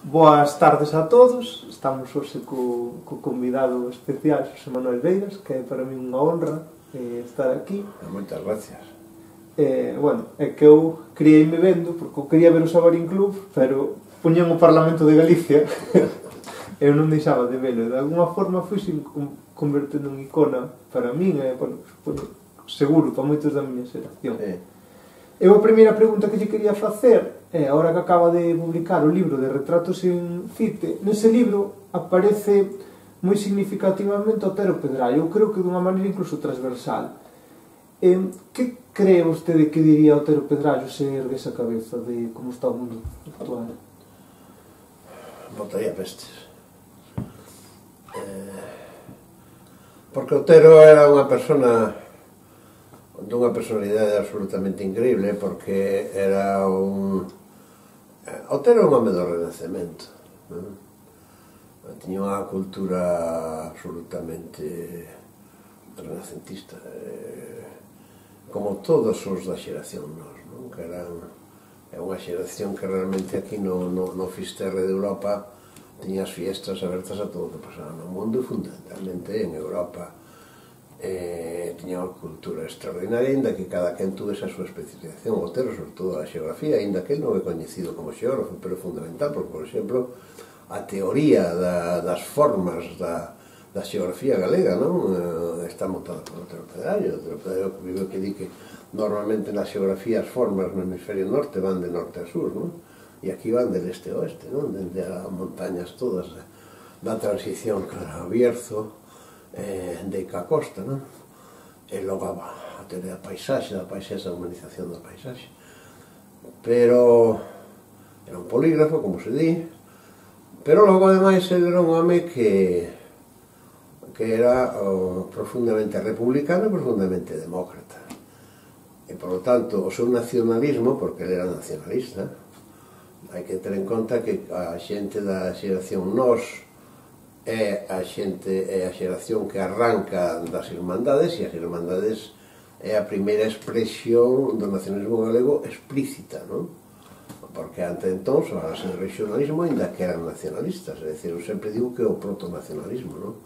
Boas tardes a todos. Estamos hoxe co convidado especial Xosé Manuel Beiras, que é para mí unha honra estar aquí. Moitas gracias. Bueno, é que eu criei-me vendo, porque eu quería ver o Sabarín Club, pero puñan o Parlamento de Galicia eu non deixaba de velo, e de alguma forma fui convertendo en icona para min, bueno, seguro para moitos da miña xeración. Eu a primeira pregunta que lle quería facer é, agora que acaba de publicar o libro de Retratos en Cite, nese libro aparece moi significativamente Otero Pedraio, eu creo que dunha maneira incluso transversal. Que cree vostede que diría Otero Pedraio se ergue esa cabeza de como está o mundo actual? Botaría pestes. Porque Otero era unha persona dunha personalidade absolutamente increíble, porque era un... Otero é un home do Renacemento, non? Tiña unha cultura absolutamente renacentista, como todos os da xeración nós, non? Que eran... É unha xeración que realmente aquí no Fisterre de Europa tiña as fiestas abertas a todo o que pasaba no mundo, e fundamentalmente en Europa. Tiña unha cultura extraordinaria, ainda que cada quen tuve esa súa especialización. Otero, sobre todo, a xeografía, ainda que ele non é coñecido como xeógrafo, pero é fundamental, porque, por exemplo, a teoría das formas da xeografía galega, non? Está montada por Otero Pedraio. Otero Pedraio que di que normalmente na xeografía as formas no hemisferio norte van de norte a sur, non? E aquí van de leste a oeste, non? Dende as montañas todas da transición cara ao Bierzo, de Ica Costa, non? E logo a teoría da paisaxe, a humanización da paisaxe. Pero era un polígrafo, como se di, pero logo, ademais, ele era un home que era profundamente republicano e profundamente demócrata. E, por lo tanto, o seu nacionalismo, porque ele era nacionalista, hai que ter en conta que a xente da xeración nós é a xeración que arranca das Irmandades, e as Irmandades é a primeira expresión do nacionalismo galego explícita, non? Porque ante entón son as de regionalismo ainda que eran nacionalistas, é dicir, eu sempre digo que é o proto-nacionalismo, non?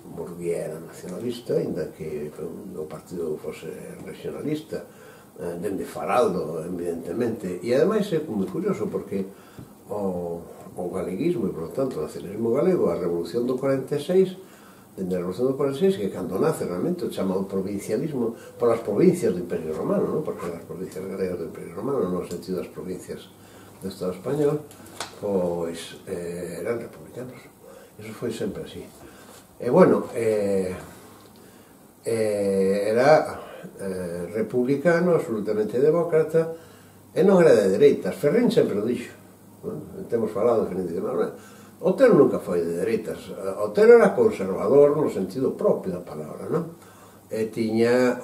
Murguía era nacionalista, ainda que o partido fose regionalista, dende Faraldo, evidentemente, e ademais é moi curioso porque o galeguismo e, por tanto, o nacionalismo galego, a Revolución do 46, dende a Revolución do 46, que cando nace realmente o chamado provincialismo polas provincias do Imperio Romano, non? Porque as provincias galegas do Imperio Romano, no sentido das provincias do Estado español, pois eran republicanos. Iso foi sempre así. E, bueno, era republicano, absolutamente demócrata, e non era de dereitas. Ferrín sempre o dixo. Temos falado definitivamente. Otero nunca foi de dereitas. Otero era conservador no sentido propio da palabra, non? E tiña,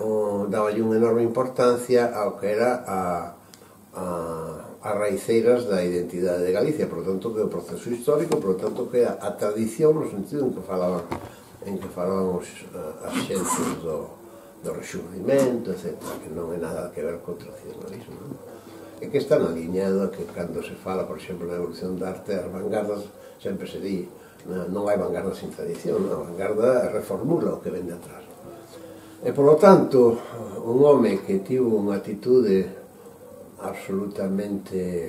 daballe unha enorme importancia ao que era as raiceiras da identidade de Galicia, por tanto que o proceso histórico, por tanto que a tradición no sentido en que falaban as xentes do rexurdimento, etc., que non é nada que ver co tradicionalismo, non? E que están alineado a que cando se fala, por exemplo, na evolución da arte, as vanguardas, sempre se di, non hai vanguarda sin tradición, a vanguarda reformula o que vende atrás. E, por lo tanto, un home que tivo unha atitude absolutamente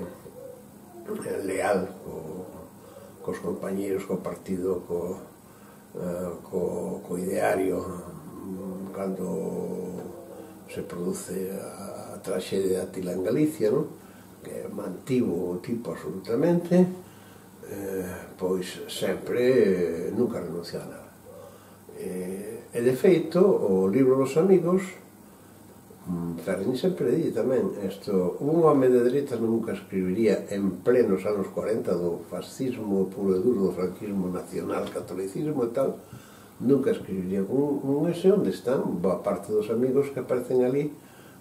leal cos compañeros, co partido, co ideario, cando se produce a traxedia de Atila en Galicia, non? Que mantivo o tipo absolutamente, pois sempre nunca renunciou a nada. E, de feito, o libro dos amigos, Ferrín sempre di tamén, un home de dereitas nunca escribiría en plenos anos 40 do fascismo puro e duro, do franquismo nacional, catolicismo e tal, nunca escribiría un ese onde están boa parte dos amigos que aparecen ali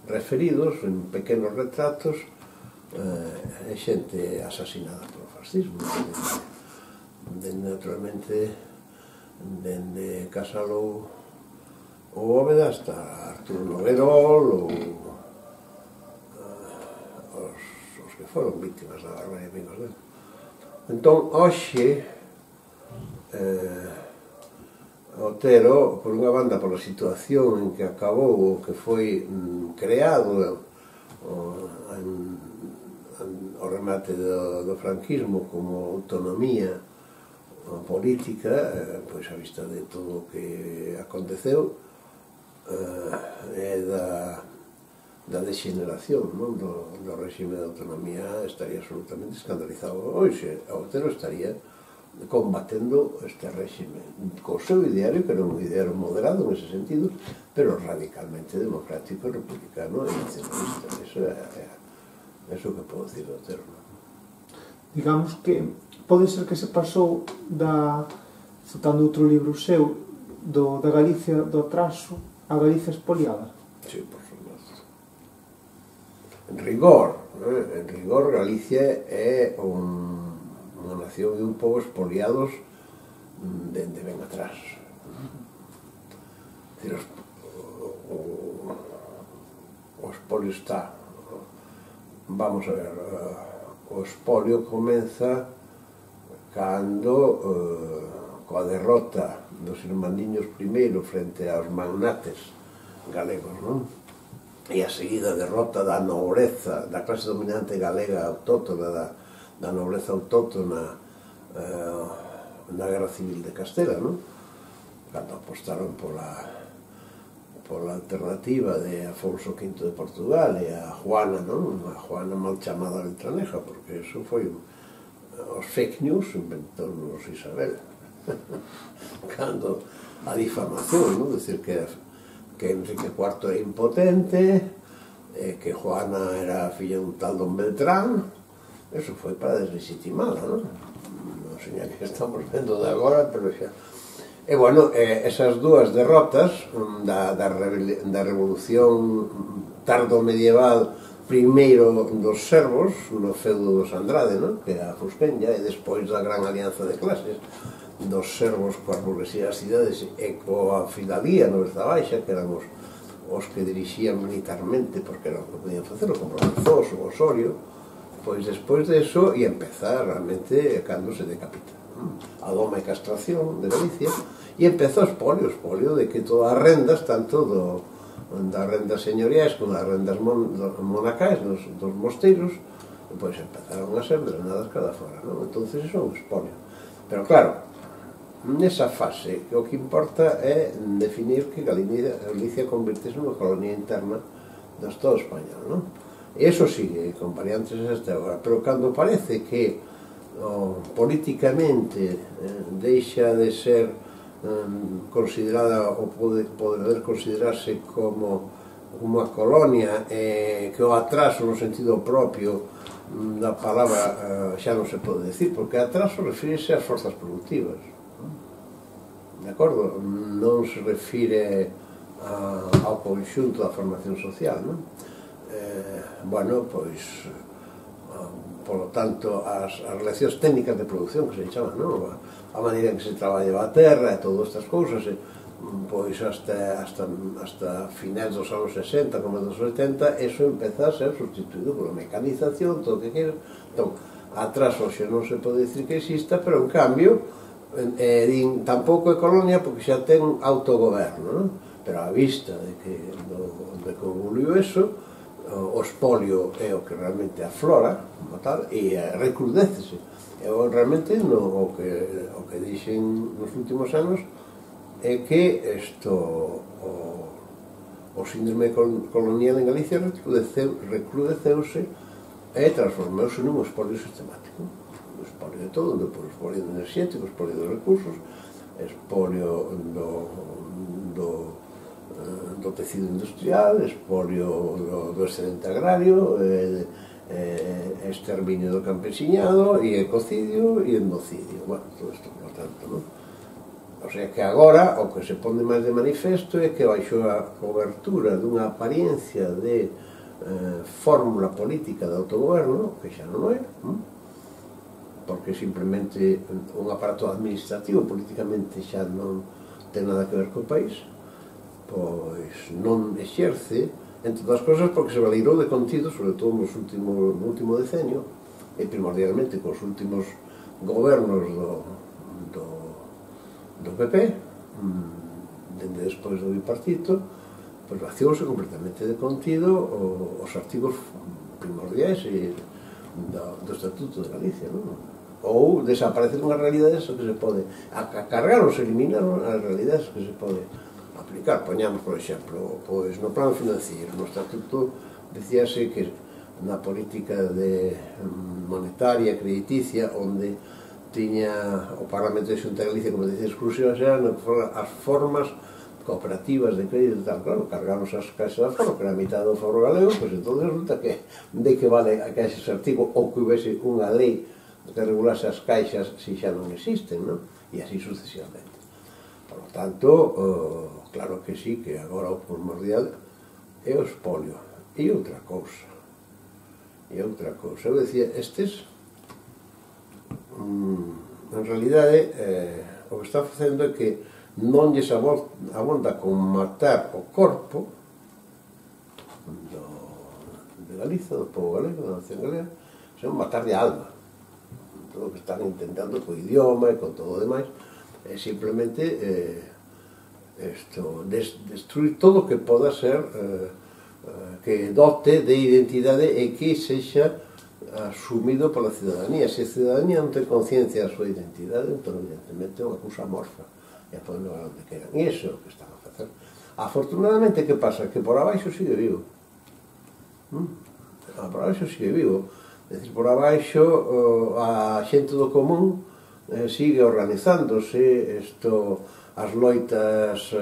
referidos en pequenos retratos, xente asasinada polo fascismo, naturalmente dende Casalou ou Bóveda hasta Arturo Noguerol, ou os que foron víctimas da barbarie amigos dele. Entón, hoxe, Otero, por unha banda, pola situación en que acabou, o que foi creado o remate do franquismo como autonomía política, pois a vista de todo o que aconteceu, e da degeneración do réxime de autonomía, estaría absolutamente escandalizado. Hoxe, Otero estaría combatendo este réxime co seu ideario, que era un ideario moderado en ese sentido, pero radicalmente democrático, republicano e nacionalista. Eso que podo dicir do Otero. Digamos que pode ser que se pasou citando outro libro seu, da Galicia do atraso a Galicia expoliada. Sí, por supuesto. En rigor, Galicia é unha nación e un pobo expoliados dende ben atrás. O expolio está... Vamos a ver, o expolio comeza cando, coa derrota dos irmandiños primeiro frente aos magnates galegos, non? E a seguida derrota da nobreza, da clase dominante galega autóctona, da nobreza autóctona na Guerra Civil de Castela, non? Cando apostaron pola alternativa de Afonso V de Portugal e a Juana, non? A Juana mal chamada Beltraneja, porque eso foi os fake news inventou-nos Isabel. Cando a difamación, non? Decir que Enrique IV era impotente, que Juana era filla dun tal Don Beltrán, eso foi para deslegitimala, non? Non sei que estamos vendo de agora, pero xa... E, bueno, esas dúas derrotas da revolución tardo-medieval, primeiro dos servos, no feudo dos Andrade, non? Que é a Fusquenlla, e despois da gran alianza de clases dos servos coa burguesía das cidades e coa fidalía no Beza Baixa, que eran os que dirixían militarmente, porque era o que podían facer, como Lanzós ou Osorio. Pois despois de eso ia empezar realmente cando se decapita a doma e castración de Galicia, e empezou o expolio de que todas as rendas, tanto das rendas señoriais como das rendas monacais dos mosteiros, pois empezaron a ser drenadas cada fora, non? Entón, iso é un expolio. Pero claro, nesa fase, o que importa é definir que Galicia convirtese nunha colonia interna do Estado español, non? E iso sigue con variantes hasta agora, pero cando parece que políticamente deixa de ser considerada ou poder considerarse como unha colonia, que o atraso no sentido propio da palabra xa non se pode decir, porque atraso refírese ás forzas productivas, de acordo? Non se refire ao conxunto da formación social, non? Bueno, pois polo tanto as relacións técnicas de producción que se chaman, non? A maneira en que se traballaba a terra e todas estas cousas, pois hasta finais dos anos 60 como dos 80, eso empeza a ser sustituído pola mecanización, todo o que queira. Entón, atrás hoxe non se pode dicir que exista, pero en cambio tampouco é colonia porque xa ten autogoberno, non? Pero a vista de que evoluiu eso, o expolio é o que realmente aflora como tal, e recrudécese. Realmente o que dixen nos últimos anos é que o síndrome colonial en Galicia recrudeceuse e transformouse nun expolio sistemático, un expolio de todo, un expolio enerxético, expolio de recursos, expolio do tecido industrial, expolio do excedente agrario, exterminio do campesiñado, e ecocidio e endocidio. Bueno, todo isto, por tanto, non? O sea que agora o que se pone máis de manifesto é que baixo a cobertura dunha apariencia de fórmula política de autogoberno, que xa non é, porque simplemente un aparato administrativo políticamente xa non ten nada que ver co país, pois non exerce, entre outras cosas porque se valeirou de contido, sobre todo no último decenio, e primordialmente cos últimos gobernos do PP, dende despois do bipartito, pois vaciouse completamente de contido os artigos primordiais do Estatuto de Galicia, non? Ou desaparecer unha realidade que se pode cargar ou se eliminar as realidades que se pode aplicar. Poñamos, por exemplo, pois no plano financiero, no Estatuto decíase que na política monetaria, crediticia, onde tiña o Parlamento de Xunta de Galicia como decía exclusivas, eran as formas cooperativas de crédito e tal. Claro, cargamos as caixas de aforo, que era a mitad do aforo galego, pois entón resulta que de que vale a caixa ese artigo, ou que houvese unha lei que regulase as caixas se xa non existen, non? E así sucesivamente. Por lo tanto, claro que sí, que agora o primordial é o espolio. E outra cousa, eu decía, estes en realidade o que está facendo é que non lles abonda con matar o corpo de Galiza, do povo galego, da nación galega, senón matar de alma. Todo o que están intentando co idioma e con todo o demais é simplemente destruir todo o que poda ser que dote de identidade e que sexa asumido pola cidadanía. Se a cidadanía non ten conciencia da súa identidade, entón evidentemente é unha cousa amorfa e a poden levar onde queran. E iso é o que están a facer. Afortunadamente, que pasa? Que por abaixo sigue vivo. Por abaixo sigue vivo. É dicir, por abaixo a xente do común sigue organizándose. As loitas,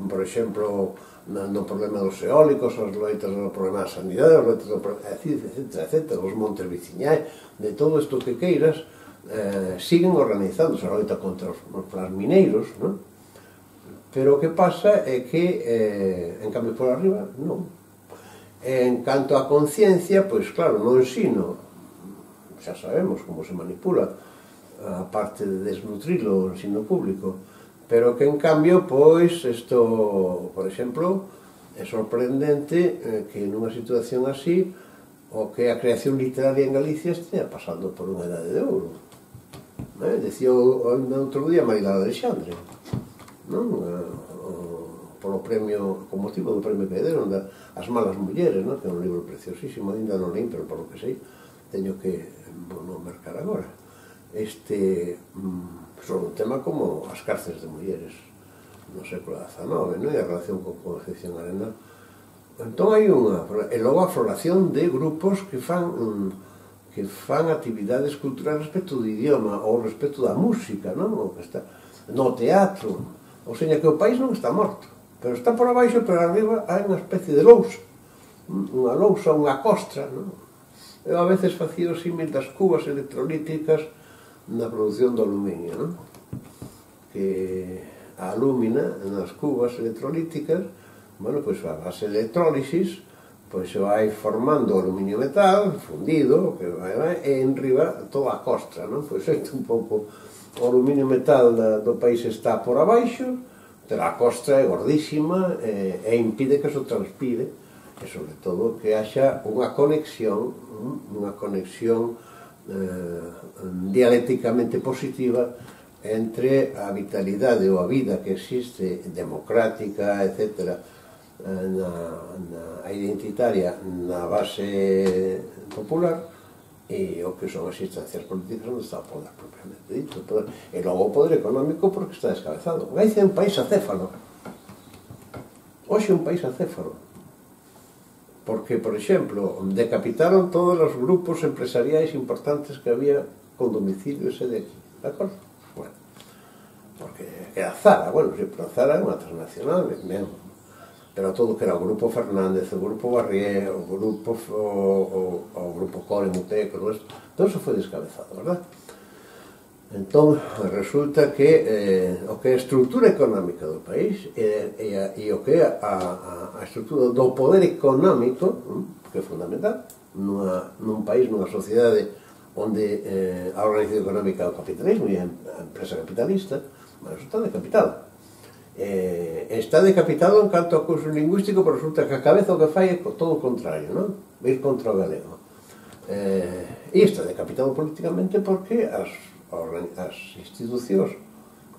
por exemplo, no problema dos eólicos, as loitas no problema da sanidade, as loitas do problema, etc., os montes veciñais, de todo isto que queiras, siguen organizándose. A loita contra os mineiros, non? Pero o que pasa é que, en cambio, por arriba, non. En canto á conciencia, pois claro, no ensino, xa sabemos como se manipula a parte de desnutrilo o ensino público, pero que en cambio, pois, isto, por exemplo, é sorprendente que nunha situación así o que a creación literaria en Galicia estea pasando por unha edade de ouro. Decía outro día Marilada Alexandre, non? Polo premio, con motivo do premio que deron As malas mulleres, non? Que é un libro preciosísimo, ainda non leín, pero por lo que sei teño que non mercar agora. Sobre un tema como as cárceles de mulleres no século XIX, non? E a relación con Concepción Arenal. Entón hai unha... E logo a floración de grupos que fan actividades culturales respecto do idioma ou respecto da música, non? No teatro. Ou seja, que o país non está morto, pero está por abaixo, pero arriba hai unha especie de lousa, unha lousa, unha costra, non? Eu a veces facía o símil das cubas electrolíticas na produción do aluminio, non? Que a alúmina nas cubas electrolíticas, bueno, pois a base de electrólisis, pois se vai formando o aluminio metal, fundido, e en riba toda a costra, non? Pois isto un pouco, o aluminio metal do país está por abaixo, pero a costra é gordísima e impide que se transpire, e sobre todo que haxa unha conexión dialécticamente positiva entre a vitalidade ou a vida que existe democrática, etc., a identitaria na base popular e o que son as instancias políticas onde está o poder propiamente dito. E logo o poder económico porque está descabezado. Galicia é un país acéfalo. Hoxe é un país acéfalo. Porque, por exemplo, decapitaron todos os grupos empresariais importantes que había con domicilio ese de aquí, de acordo? Bueno, porque era Zara, bueno, pero Zara é unha transnacional mesmo, pero todo que era o Grupo Fernández, o Grupo Barrié, o Grupo Core Mutec, todo eso foi descabezado, verdad? Entón, resulta que o que é a estrutura económica do país e o que é a estrutura do poder económico, que é fundamental, nun país, nunha sociedade onde a organización económica é o capitalismo e a empresa capitalista, mas eso está decapitado. Está decapitado en canto ao curso lingüístico, pero resulta que a cabeza o que fai é todo o contrario, non? Ir contra o galego. E está decapitado políticamente porque as institucións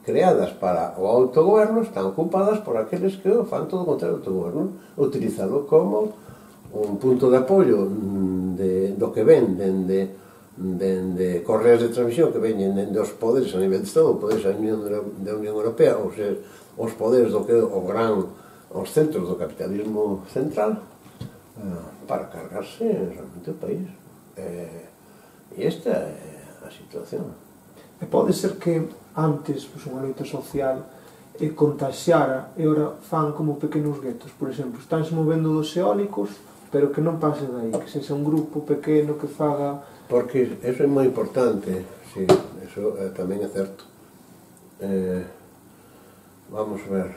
creadas para o autogoberno están ocupadas por aqueles que fan todo o contrario do autogoberno, utilizalo como un punto de apoio do que ven dende correas de transmisión que veñen dende os poderes a nivel de Estado, os poderes da Unión Europea, ou seja, os poderes do que os centros do capitalismo central, para cargarse realmente o país. E esta é a situación. E pode ser que antes unha loita social contaxiara e ora fan como pequenos guetos, por exemplo, estánse movendo dos eólicos, pero que non pase dai, que sexa un grupo pequeno que faga... Porque eso é moi importante, sí, eso tamén é certo. Vamos ver...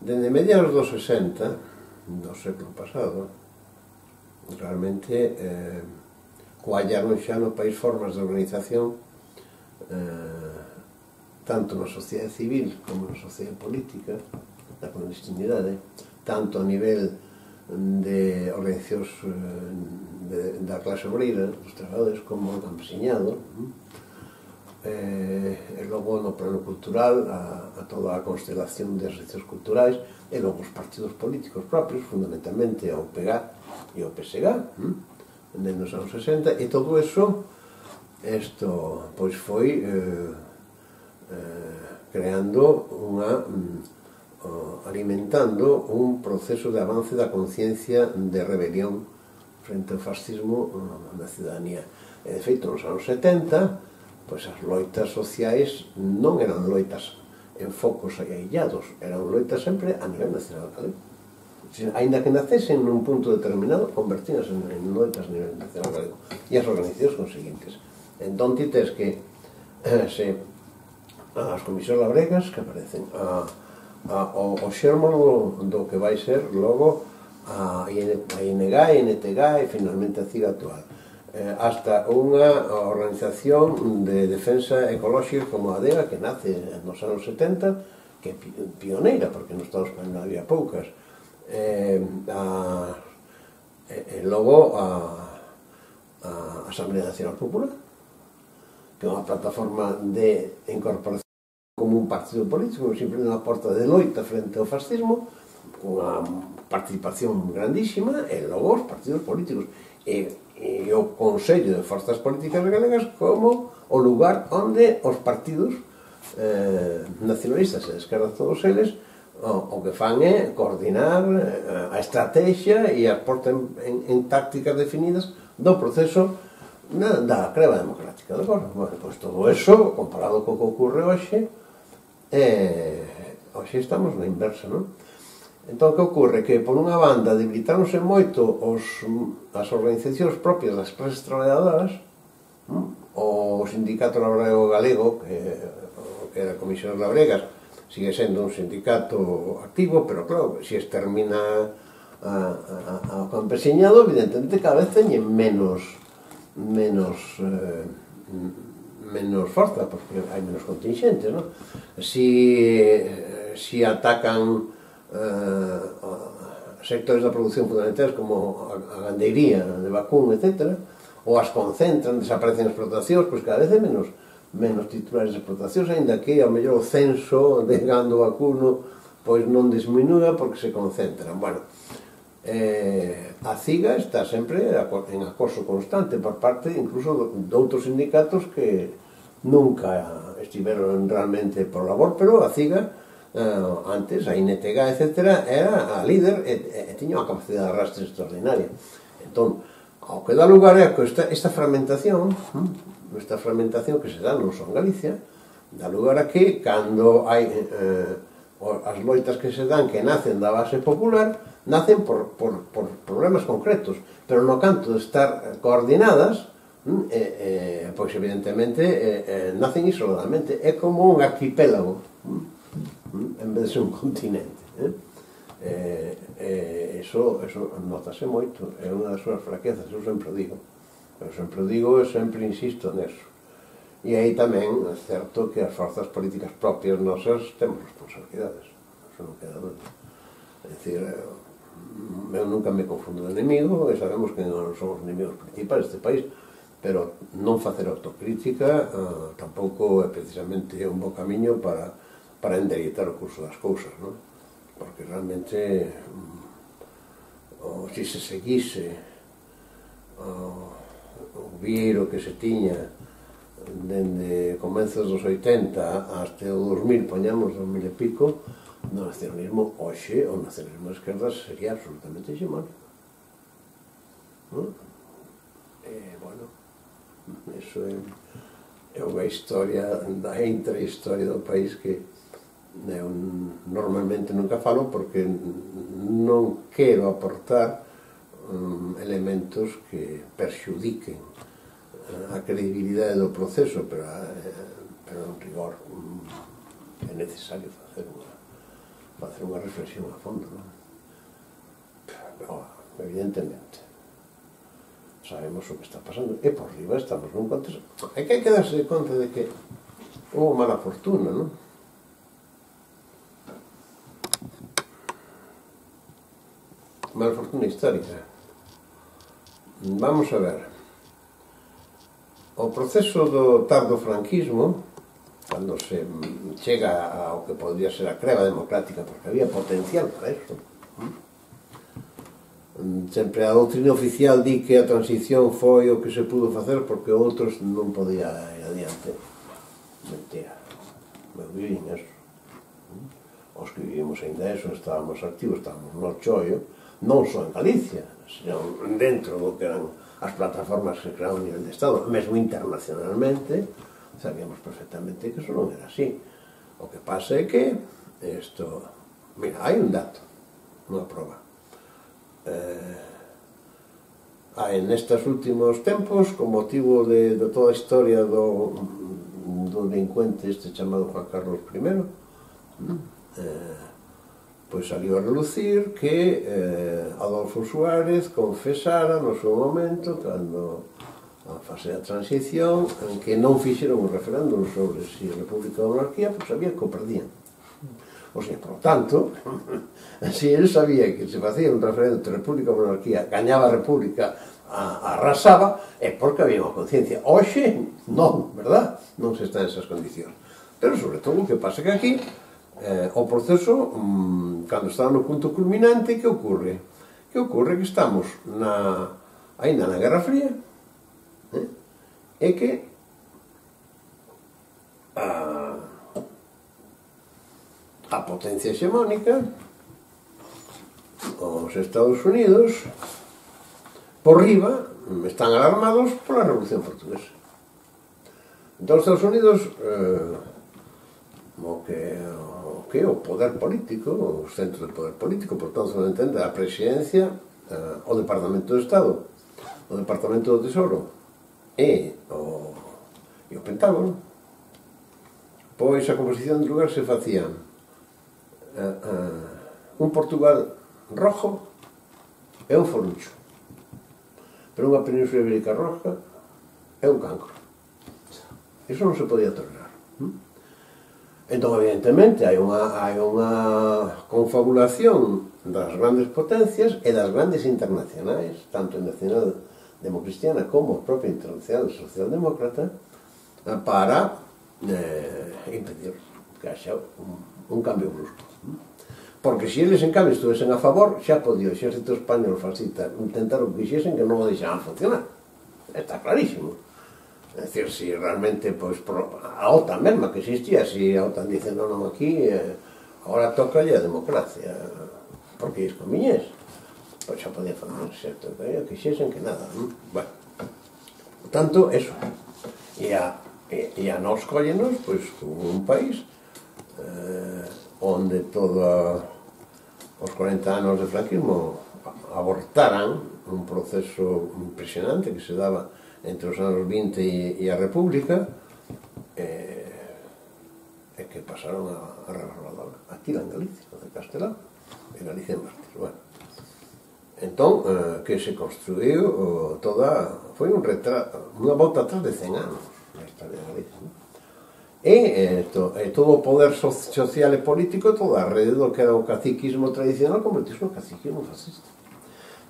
Dende mediados dos 60 do século pasado, realmente coallaron xa no país formas de organización tanto na sociedade civil como na sociedade política, na clandestinidade, tanto a nivel de organizacións da clase obreira, dos traballadores, como o campesiñado, e logo no plano cultural a toda a constelación de asociacións culturais, e logo os partidos políticos propios, fundamentalmente o PG e o PSG, dentro dos anos 60, e todo eso pois foi creando alimentando un proceso de avance da conciencia de rebelión frente ao fascismo na ciudadanía. E de feito, nos anos 70, pois as loitas sociais non eran loitas en focos aillados, eran loitas sempre a nivel nacional galego. Ainda que nacesen nun punto determinado, convertíanse en loitas a nivel nacional galego. E as organizacións conseguintes. Entón, ti tes que as comisións labregas que aparecen, o xérmolo do que vai ser logo a ING, a NTG e finalmente a CIG actual, hasta unha organización de defensa ecolóxica como a ADEGA, que nace nos anos 70, que é pioneira, porque no Estado español había poucas, e logo a Asamblea Nacional Popular, que é unha plataforma de incorporación como un partido político, simplemente unha porta de loita frente ao fascismo, cunha participación grandísima, e logo os partidos políticos e o Consello de Forzas Políticas Galegas como o lugar onde os partidos nacionalistas e de esquerda, todos eles, o que fan é coordinar a estrategia e as portan en tácticas definidas do proceso da creba democrática. Bueno, pois todo eso, comparado co que ocorre hoxe, hoxe estamos na inversa, non? Entón, que ocorre? Que, por unha banda, debilitáronse moito as organizacións propias das clases traballadoras, o Sindicato Labrego Galego, que era a Comisión Labregas, sigue sendo un sindicato activo, pero claro, se extermina ao campesiñado, evidentemente cada vez teñen menos forza, porque hai menos contingentes, non? Si atacan sectores da produción fundamentais como a gandeiría de vacún, etc., ou as concentran, desaparecen as explotacións, pois cada vez é menos titulares de explotacións, ainda que ao mellor o censo de gando vacuno pois non disminúa porque se concentran. Bueno, a CIGA está sempre en acoso constante por parte incluso de outros sindicatos que nunca estiveron realmente por labor, pero a CIGA antes, a INTG, etc., era a líder e tiña unha capacidade de arrastre extraordinaria. Entón, ao que dá lugar é esta fragmentación que se dá non só en Galicia, dá lugar a que cando hai as loitas que se dan que nacen da base popular, nacen por problemas concretos, pero no canto de estar coordinadas, pois evidentemente nacen isoladamente, é como un arquipélago en vez de ser un continente. Eso notase moito, é unha das súas fraquezas, eu sempre digo e sempre insisto neso. E aí tamén é certo que as forzas políticas propias nosas temos responsabilidades, eso non queda dúbida. É dicir, eu nunca me confundo de enemigo, e sabemos que non somos enemigos principais deste país, pero non facer autocrítica tampouco é precisamente un bo camiño para endereitar o curso das cousas, non? Porque realmente se se seguise o vieiro que se tiña dende comenzos dos 80 hasta o 2000, poñamos 2000 e pico, no nacionalismo, hoxe o nacionalismo de esquerdas sería absolutamente hexemónico, non? Bueno, iso é unha historia da intrahistoria do país que eu normalmente nunca falo porque non quero aportar elementos que perxudiquen a credibilidade do proceso, pero en rigor é necesario facer unha reflexión a fondo, non? Evidentemente sabemos o que está pasando e por riba estamos nun contexto, hai que darse conta de que houve mala fortuna, non? Mala fortuna histórica. Vamos a ver, o proceso do tardo franquismo, cando se chega ao que podría ser a creba democrática, porque había potencial para eso, sempre a doutrina oficial di que a transición foi o que se pudo facer porque outros non podía ir adiante. Mentira, eu vivín eso. Os que vivimos ainda eso, estábamos activos, estábamos no chollo, non só en Galicia, senón dentro do que eran as plataformas que crearon a nivel de Estado, mesmo internacionalmente, sabíamos perfectamente que eso non era así. O que pasa é que isto, mira, hai un dato, unha prova. Hai nestes últimos tempos, con motivo de toda a historia do delincuente este chamado Juan Carlos I, pois saliu a relucir que Adolfo Suárez confesara no seu momento, cando a fase da transición, en que non fixeron un referéndum sobre si a República ou Monarquía, pois sabía que o perdían. O sea, por tanto, se ele sabía que se facía un referéndum de República ou Monarquía, gañaba a República, arrasaba, é porque había unha conciencia. Hoxe, non, verdad? Non se está en esas condicións. Pero, sobre todo, o que pasa que aquí, o proceso, cando está no punto culminante, que ocorre? Que ocorre que estamos ainda na Guerra Fría, e que a potencia hexemónica, os Estados Unidos, por riba, están alarmados pola Revolución Portuguesa. Entón, os Estados Unidos, o poder político, o centro de poder político, por tanto, se entende a presidencia, o Departamento de Estado, o Departamento do Tesouro e o Pentágono, pois a composición de lugar se facía un Portugal rojo e un Foruncho, pero unha Península Ibérica roja e un cancro. Iso non se podía tolerar. Entón, evidentemente, hai unha confabulación das grandes potencias e das grandes internacionais, tanto nacional democristiana como a propia internacional socialdemócrata, para impedir que haxa un cambio brusco. Porque se eles, en cambio, estuvesen a favor, xa podía o exército español fascista intentar o que quixesen que non o deixaban funcionar. Está clarísimo. É dicir, se realmente, pois, a OTAN mesma que existía, se a OTAN dice non, aquí, agora toca a democracia, porque iso conviñes, pois xa podía fazer exército, que quixesen que nada, non? Bueno, por tanto, eso. E a nos collenos, pois, como un país onde todos os 40 anos de franquismo abortaran un proceso impresionante que se daba entre os anos 20 e a República, e que pasaron a rebarbadora aquí en Galicia, de Castelao, e Galicia en Mártir. Bueno, entón, que se construiu toda, foi un retrato, unha volta atrás de 100 anos na historia de Galicia, non? e todo o poder social e político, toda a rede do que era o caciquismo tradicional convertiuse no caciquismo fascista.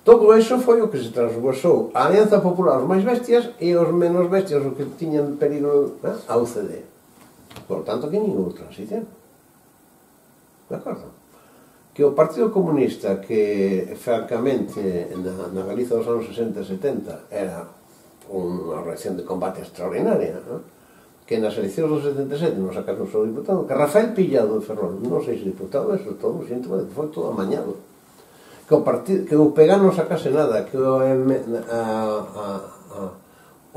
Todo iso foi o que se transversou a Alianza Popular, os máis bestias, e os menos bestias, os que tiñan peligro, a UCD. Por tanto, que nin houve transición. De acordo? Que o Partido Comunista, que francamente na Galiza dos anos 60 e 70 era unha reacción de combate extraordinaria, que nas eleccións dos 77 non sacaron o seu diputado, que Rafael Pillado de Ferrol, non sei se diputado, eso todo, síntoma de que foi todo amañado. Que o PG non sacase nada, que o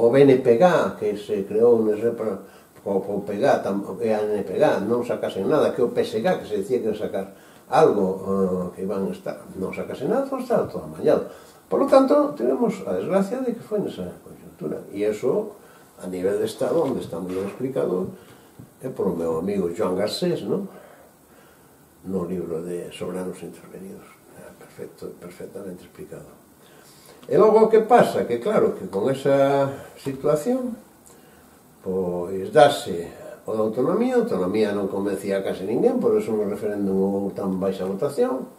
BNPG, que se creou o PG e a NPG non sacase nada, que o PSG, que se decía que iba a sacar algo, que iban a estar, non sacase nada, todo estaba todo amañado. Por lo tanto, tenemos a desgracia de que foi nesa conjuntura, e eso a nivel de Estado, onde está moi ben explicado, é por o meu amigo Joan Garcés, no libro de Soberanos Intervenidos. Perfectamente explicado. E logo o que pasa? Que claro, que con esa situación pois dase o da autonomía. A autonomía non convencía a case ninguén, por eso un referéndum houve tan baixa votación.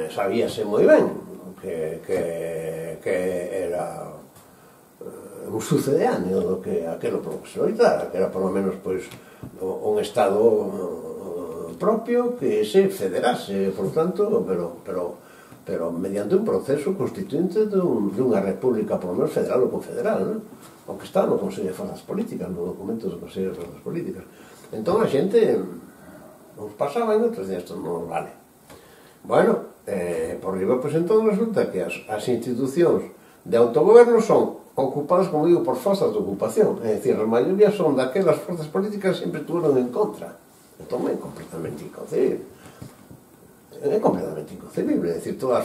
Sabíase moi ben que era un sucedáneo do que aquelo profesoritara, que era por lo menos pois un Estado propio que se federase, por tanto, pero mediante un proceso constituinte dunha república, por lo menos federal ou confederal, non? O que está no Consello de Forzas Políticas, no documento do Consello de Forzas Políticas. Entón a xente nos pasaba e outros días isto non vale. Bueno, por riba, pois entón resulta que as institucións de autogoberno son ocupadas, como digo, por forzas de ocupación, é dicir, a maioría son daquelas forzas políticas que sempre tuveron en contra. Entón é completamente inconcebible. É completamente inconcebible. É dicir, todas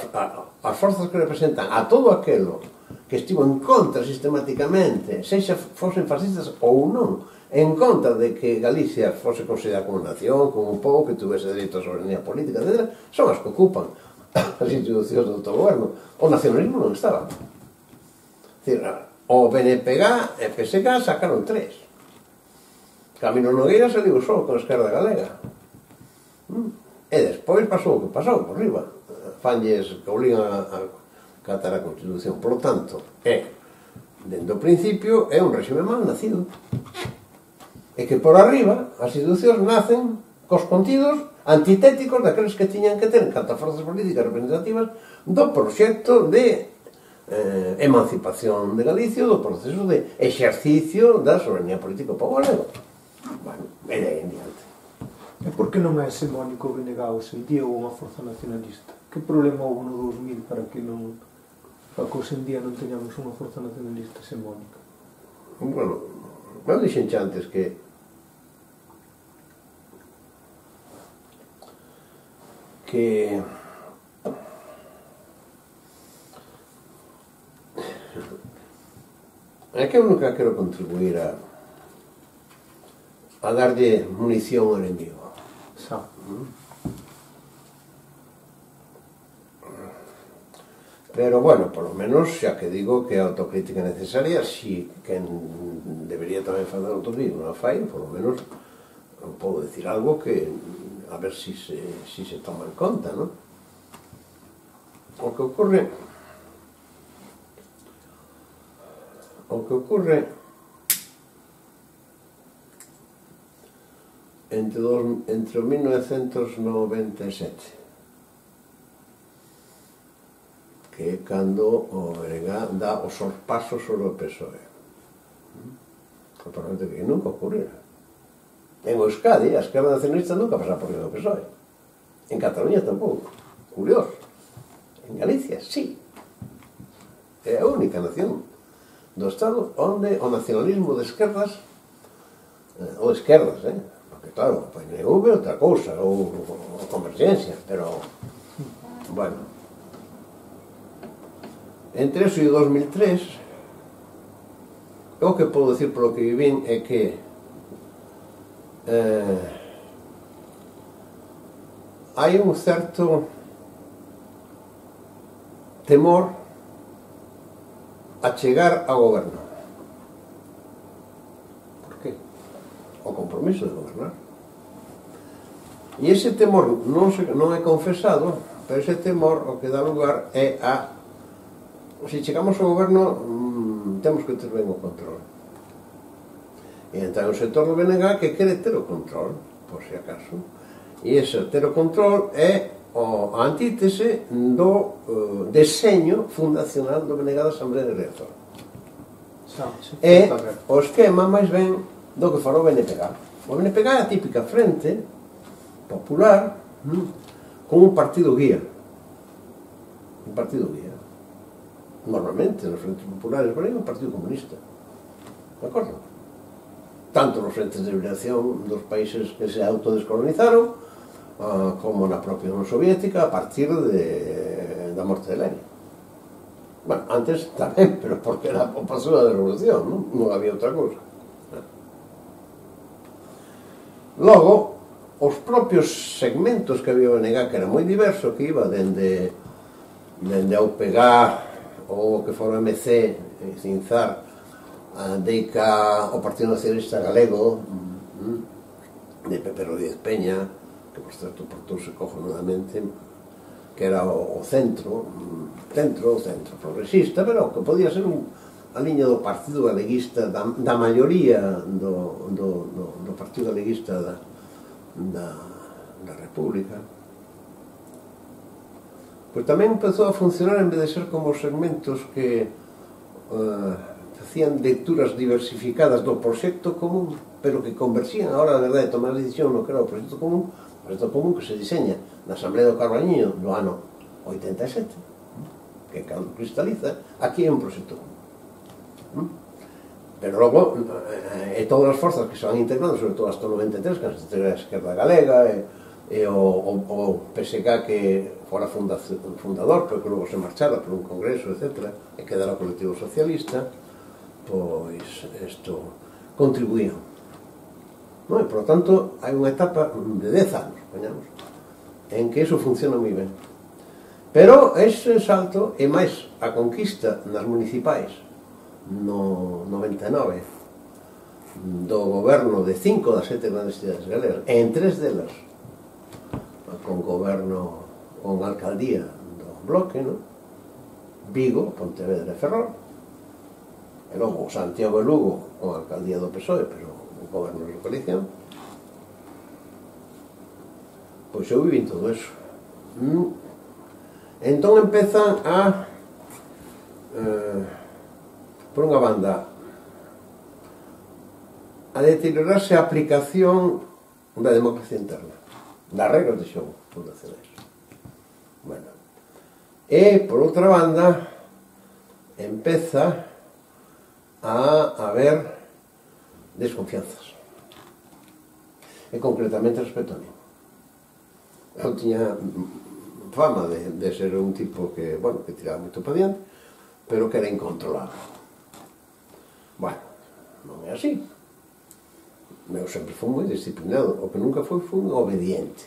as forzas que representan a todo aquelo que estivo en contra sistematicamente, sexa fosen fascistas ou non, en contra de que Galicia fose considerada como nación, como un pobo que tuvese dereito a soberanía política, etc., son as que ocupan as institucións do autogoberno. O nacionalismo non estaba. É dicir, o BNPG e PSG sacaron 3. Camilo Nogueira saliu só con a Esquerda Galega. E despois pasou o que pasou, por riba. Fanlles que obligan a catar a Constitución. Por lo tanto, dende o principio, é un réxime mal nacido. E que por arriba, as institucións nacen cos contidos antitéticos daqueles que tiñan que ter, en canto a forzas políticas representativas, do proxecto de emancipación de Galicia, do proceso de exercicio da soberanía política ao pobo galego. Bueno, e de aí en diante. E por que non é hexemónico o BNG hoxe en día ou unha forza nacionalista? Que problema houve no 2000 para que hoxe en día non teñamos unha forza nacionalista hexemónica? Bueno, eu dixen xa antes que é que eu nunca quero contribuir a darlle munición ao enemigo. Xa. Pero, bueno, por lo menos, xa que digo que a autocrítica é necesaria, si quen debería tamén fazer autocrítica non a fai, por lo menos podo decir algo que a ver si se toma en conta, non? O que ocurre entre o 1997, que é cando o BNG dá o sorpaso sobre o PSOE. O Parlamento que nunca ocurrira. En Euskadi, a esquerda nacionalista nunca pasaba por riba do PSOE. En Cataluña tampouco. Curioso. En Galicia, sí. É a única nación do Estado onde o nacionalismo de esquerdas, ou esquerdas, porque claro, o PNV é outra cousa, ou Convergencia, pero, bueno, entre eso e o 2003, o que podo decir polo que vivín é que hai un certo temor a chegar ao goberno. Por compromiso de gobernar. E ese temor non é confesado, pero ese temor o que dá lugar é a se chegamos ao goberno temos que ter ben o control. E entón o sector do BNG que quere ter o control, por si acaso, e ese ter o control é a antítese do deseño fundacional do BNG da Asamblea de Director. É o esquema máis ben do que fora o BNPG. O BNPG é a típica frente popular con un partido guía. Un partido guía. Normalmente, nos frentes populares por aí, un partido comunista. De acordo? Tanto nos frentes de liberación dos países que se autodescolonizaron, como na propia Unión Soviética, a partir da morte de Lenin. Bueno, antes tamén, pero porque era o paso da revolución, non había outra cousa. Logo, os propios segmentos que había o BNG, que era moi diverso, que iba dende a UPG ou que fora MC, Cinzar, deica o Partido Nacionalista Galego, de Pepe Rodríguez Peña, que por certo portouse cojonudamente, que era o centro progresista, pero que podía ser a liña do Partido Galeguista, da maioría do Partido Galeguista da República. Pois tamén empezou a funcionar, en vez de ser como os segmentos que facían lecturas diversificadas do proxecto común, pero que conversían a hora, na verdade, de tomar a decisión no que era o proxecto común que se diseña na Asamblea do Carballiño do ano 87, que cando cristaliza, aquí é un proxecto común. Pero logo, todas as forzas que se van integrando, sobre todo hasta o 93, que se integra a Esquerda Galega, e o PSG que fora fundador, pero que logo se marchara por un congreso, etc., e quedara o colectivo socialista, pois isto contribuía. E, por lo tanto, hai unha etapa de 10 anos, poñamos, en que iso funciona moi ben. Pero ese salto, e máis a conquista nas municipais no 99 do goberno de 5 das 7 grandes cidades galegas, e en 3 delas con goberno, con alcaldía do bloque, Vigo, Pontevedra e Ferrol, e logo Santiago e Lugo con alcaldía do PSOE, pero un goberno de coalición. Pois eu viví todo eso. Entón empezan a por unha banda a deteriorarse a aplicación da democracia interna, das regras de xogo fundacionais. Bueno, e por outra banda empeza a haber desconfianzas, e concretamente respecto a mí. Eu tiña fama de ser un tipo que, bueno, que tiraba moito para diante, pero que era incontrolable. Bueno, non é así. Eu sempre fui moi disciplinado, o que nunca fui obediente.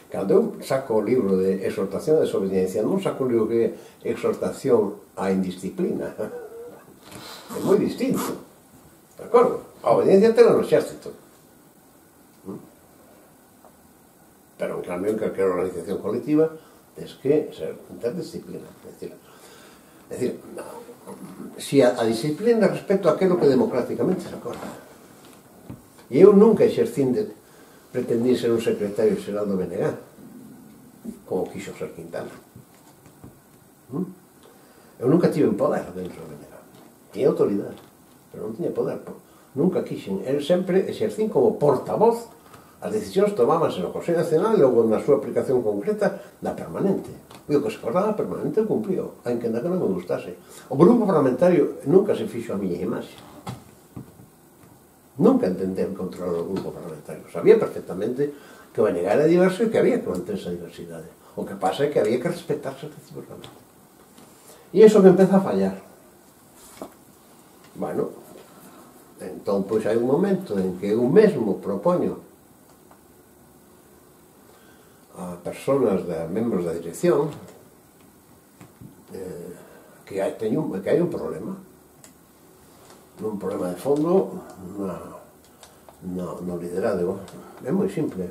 Cando eu saco o libro de exhortación a desobediencia, non saco o libro que é exhortación á indisciplina. É moi distinto. De acordo? A obediencia tela no exército. Pero, en cambio, en calquera organización colectiva tens que ter disciplina. É dicir, si a disciplina respecto a aquilo que democráticamente se acorda. E eu nunca exercín pretendí ser un secretario xeral do BNG, como quixo ser Quintana. Eu nunca tive poder dentro do BNG. Tinha autoridade, pero non tiña poder. Nunca quixen. Eu sempre exercín como portavoz. As decisións tomábanse no Consello Nacional e logo na súa aplicación concreta da permanente. E o que se acordaba permanente eu cumplío, aínque ainda que non me gustase. O grupo parlamentario nunca se fixo a miña imaxe. Nunca entendeu controlar o grupo parlamentario. Sabía perfectamente que o BNG era diverso e que había que manter esa diversidade. O que pasa é que había que respetarse recíprocamente. E iso que empeza a fallar. Bueno, entón, pois hai un momento en que eu mesmo propoño a personas, membros da dirección, que hai un problema. Un problema de fondo no liderado. É moi simple.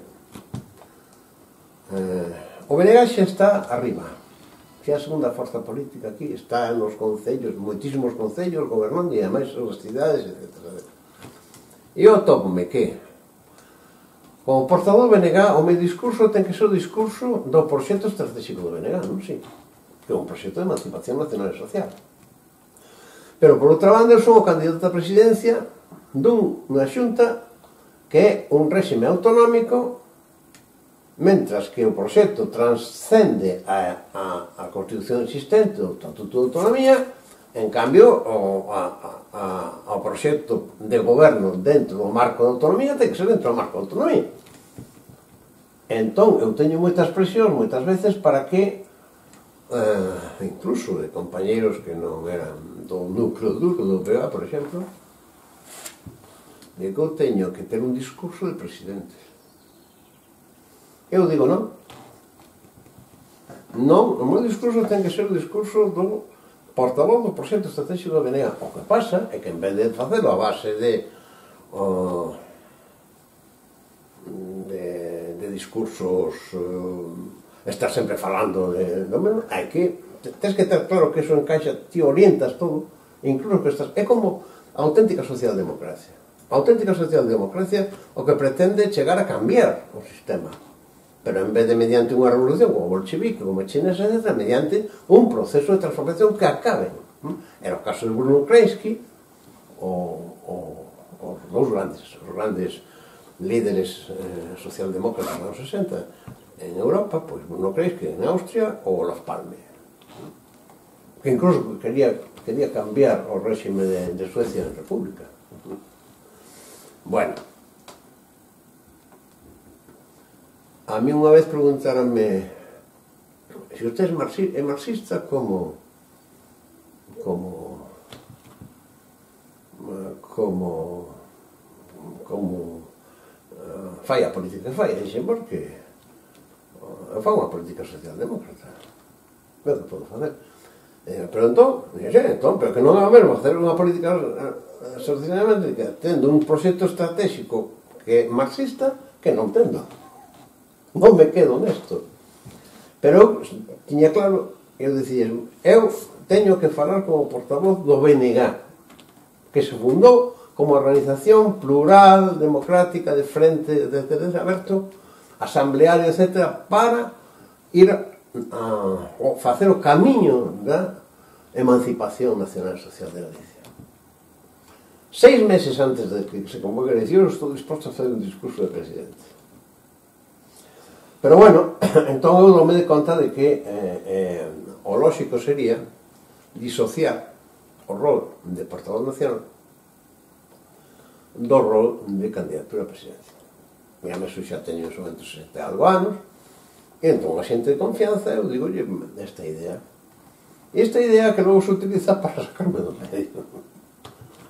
O BNG xa está arriba, que é a segunda forza política aquí, está nos concellos, moitísimos concellos gobernando, e ademais as cidades, etc. E eu tópome que como portador do BNG o meu discurso ten que ser o discurso do proxecto estratégico do BNG, non? Sí, que é un proxecto de emancipación nacional e social. Pero por outra banda eu son o candidato a presidencia dunha xunta que é un réxime autonómico, mentras que o proxecto transcende a Constitución existente, o Estatuto de Autonomía. En cambio, o proxecto de goberno dentro do marco de autonomía ten que ser dentro do marco de autonomía. Entón, eu teño moitas presións, moitas veces, para que, incluso de compañeiros que non eran do núcleo duro do PA, por exemplo, de que eu teño que ter un discurso de presidente. Eu digo non. Non, o meu discurso ten que ser o discurso do portavoz do proxecto estratégico do BNG. O que pasa é que en vez de facelo a base de discursos, estar sempre falando do mesmo, hai que tens que ter claro que eso encaixa, ti orientas todo, incluso que estás, é como a auténtica socialdemocracia. A auténtica socialdemocracia o que pretende chegar a cambiar o sistema, pero en vez de mediante unha revolución como bolchevique, como chinesa, mediante un proceso de transformación que acabe. Era o caso de Bruno Kreisky, os dous grandes líderes socialdemócratas dos 60 en Europa, pois Bruno Kreisky en Austria ou Olof Palme, que incluso quería cambiar o réxime de Suecia en república. Bueno, a mí unha vez preguntaranme se usted é marxista como fai a política que fai, e dixen, porque fai unha política socialdemócrata, é o que podo facer. Pero entón, pero que non é o mesmo facer unha política socialdemócrata tendo un proxecto estratégico que é marxista que non tendo. Non me quedo nesto. Pero eu tiña claro, eu dicía, eu teño que falar como portavoz do BNG, que se fundou como organización plural, democrática, de frente, de aberto, asambleario, etc., para ir a facer o camiño da emancipación nacional e social de Galicia. 6 meses antes de que se convoque a elección, estou disposto a facer un discurso de presidente. Pero bueno, entón eu dome de conta de que o lóxico sería disociar o rol de portavoz nacional do rol de candidatura a presidencia. E a meso xa teño en momento 60 e algo anos, e entón a xente de confianza eu digo, esta idea que logo se utiliza para sacarme do medio.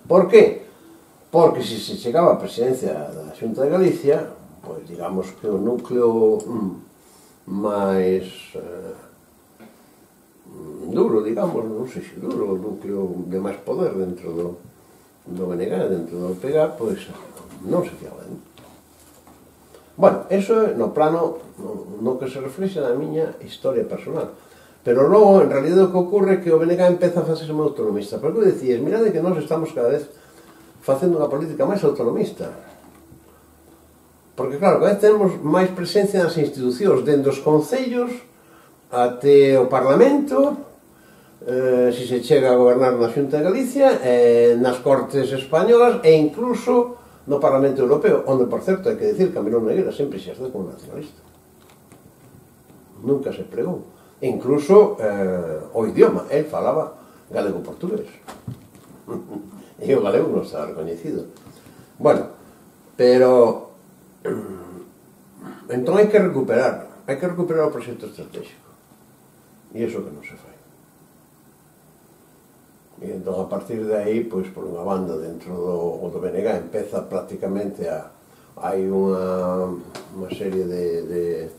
Por qué? Porque se chegaba a presidencia da Xunta de Galicia, pois digamos que o núcleo máis duro, digamos, non sei se duro, o núcleo de máis poder dentro do BNG, dentro do PEGA, pois non se fiaba. Bueno, eso é no plano no que se reflexa na miña historia personal. Pero logo, en realidad, o que ocorre é que o BNG empeza a facerse moi autonomista. Porque eu dicías, mirade que nós estamos cada vez facendo unha política máis autonomista. Porque, claro, cada vez temos máis presencia nas institucións, dende os concellos até o Parlamento, se se chega a gobernar na Xunta de Galicia, nas Cortes Españolas e incluso no Parlamento Europeo, onde, por certo, hai que dicir que Mirón Nogueira sempre se xerceu como nacionalista. Nunca se pregou. E incluso o idioma, el falaba galego-portugués. E o galego non estaba recoñecido. Bueno, pero entón hai que recuperar o proxecto estratégico. E iso que non se fai. E entón, a partir de aí, pois, por unha banda dentro do BNG empeza prácticamente hai unha serie de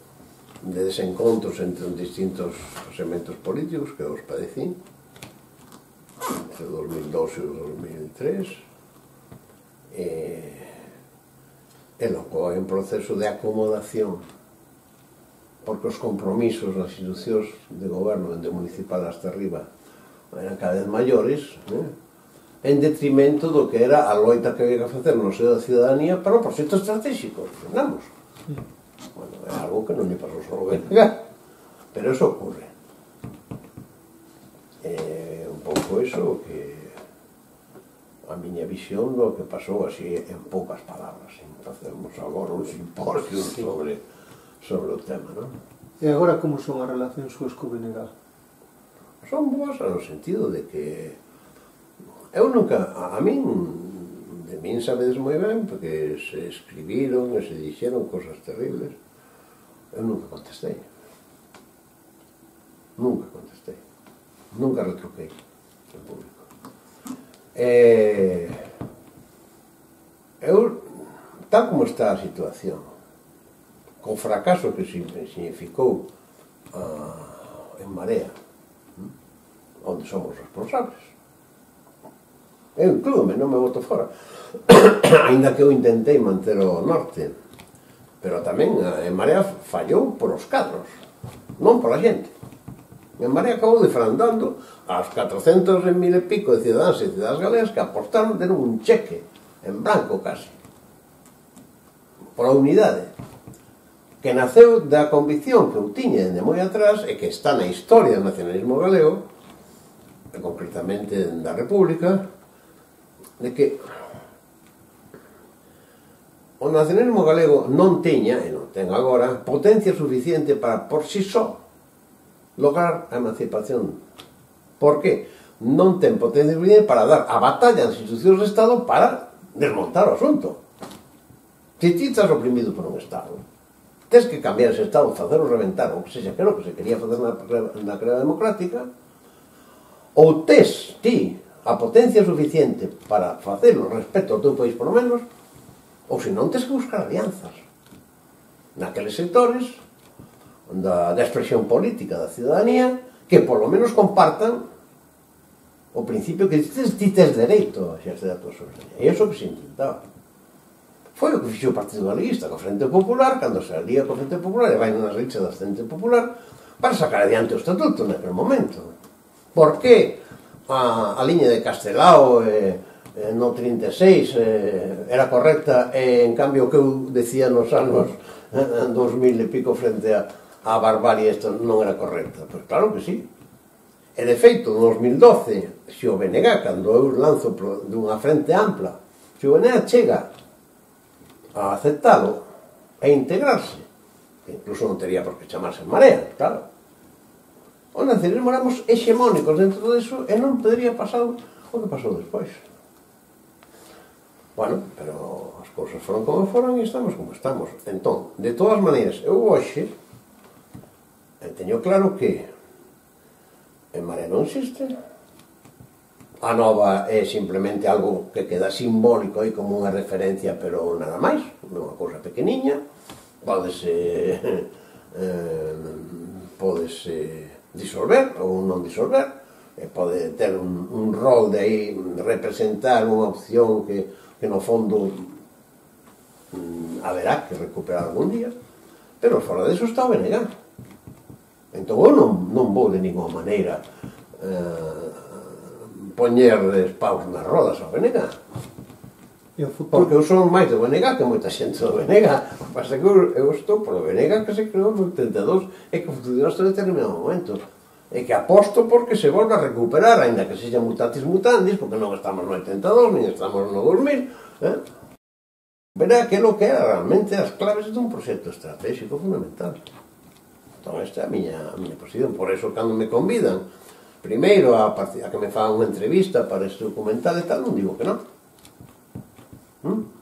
desencontros entre os distintos segmentos políticos que os padecín entre 2002 e 2003, E logo hai un proceso de acomodación, porque os compromisos nas institucións de goberno, dende municipal hasta arriba, eran cada vez maiores, en detrimento do que era a loita que había que facer no seo da ciudadanía para os proxectos estratégicos. Entendamos. Bueno, é algo que non lle pasou só ao BNG, pero eso ocurre. É un pouco eso que a miña visión do que pasou así en poucas palabras. Facemos agora un simposio sobre o tema, non? E agora como son as relacións súas co BNG? Son boas no sentido de que eu nunca, a min, de min sabedes moi ben, porque se escribiron e se dixeron cosas terribles, eu nunca contestei. Nunca contestei. Nunca retruquei en público. Eu, tal como está a situación, co fracaso que significou en Marea, onde somos responsables, eu inclúome, non me boto fora, ainda que eu intentei manter o norte, pero tamén en Marea fallou por os cadros, non pola xente. En Marea acabou defraudando aos 400 e mil e pico de cidadáns e cidadás galegas que apostaron, deron un cheque en blanco casi pola unidade, que naceu da convicción que eu tiña dende moi atrás e que está na historia do nacionalismo galego, e concretamente da República, de que o nacionalismo galego non teña, e non ten agora, potencia suficiente para por si só lograr a emancipación. Por que? Non ten potencia suficiente para dar a batalla nas institucións do Estado para desmontar o asunto. Se ti estás oprimido por un Estado, tens que cambiar ese Estado, facelo reventar, ou que sexa, que era o que se quería facer na crema democrática, ou tes ti a potencia suficiente para facelo respecto ao teu país, por lo menos, ou se non tens que buscar alianzas naqueles sectores da expresión política da ciudadanía que por lo menos compartan o principio que ti tes dereito a exercer a tua soberanía. E iso que se intentaba. Foi o que fixo o Partido Galeguista co Frente Popular, cando se alía co Frente Popular e vai nas rixas da Frente Popular para sacar adiante o estatuto naquele momento. Por que a liña de Castelao no 36 era correcta e en cambio o que eu decía nos anos 2000 e pico frente a barbarie isto non era correcta? Pois claro que sí. E de feito, no 2012, se o BNG, cando eu lanzo dunha frente ampla, se o BNG chega a aceptalo e integrarse, que incluso non tería por que chamarse Marea, claro, o nacionalismo éramos hexemónicos dentro disso e non podería pasar o que pasou despois. Bueno, pero as cousas foron como foron e estamos como estamos. Entón, de todas maneiras, eu hoxe teño claro que en Marea non existe. A nova é simplemente algo que queda simbólico aí como unha referencia, pero nada máis, unha cousa pequeniña, pódese disolver ou non disolver, pode ter un rol de aí representar unha opción que no fondo haberá que recuperar algún día, pero fora deso está o BNG. Entón eu non vou de ninguna maneira poñer paus nas rodas ao BNG, porque eu son máis do BNG que moita xente do BNG. Pasa que eu estou polo BNG que se creou no 82 e que funcionou hasta determinado momento, e que aposto porque se volva a recuperar, ainda que sexa mutatis mutandis, porque non estamos no 82 nin estamos no 2000, verá que é o que era realmente as claves dun proxecto estratégico fundamental. Entón esta é a miña posición. Por eso cando me convidan primeiro a que me fagan unha entrevista para este documental e tal, non digo que non.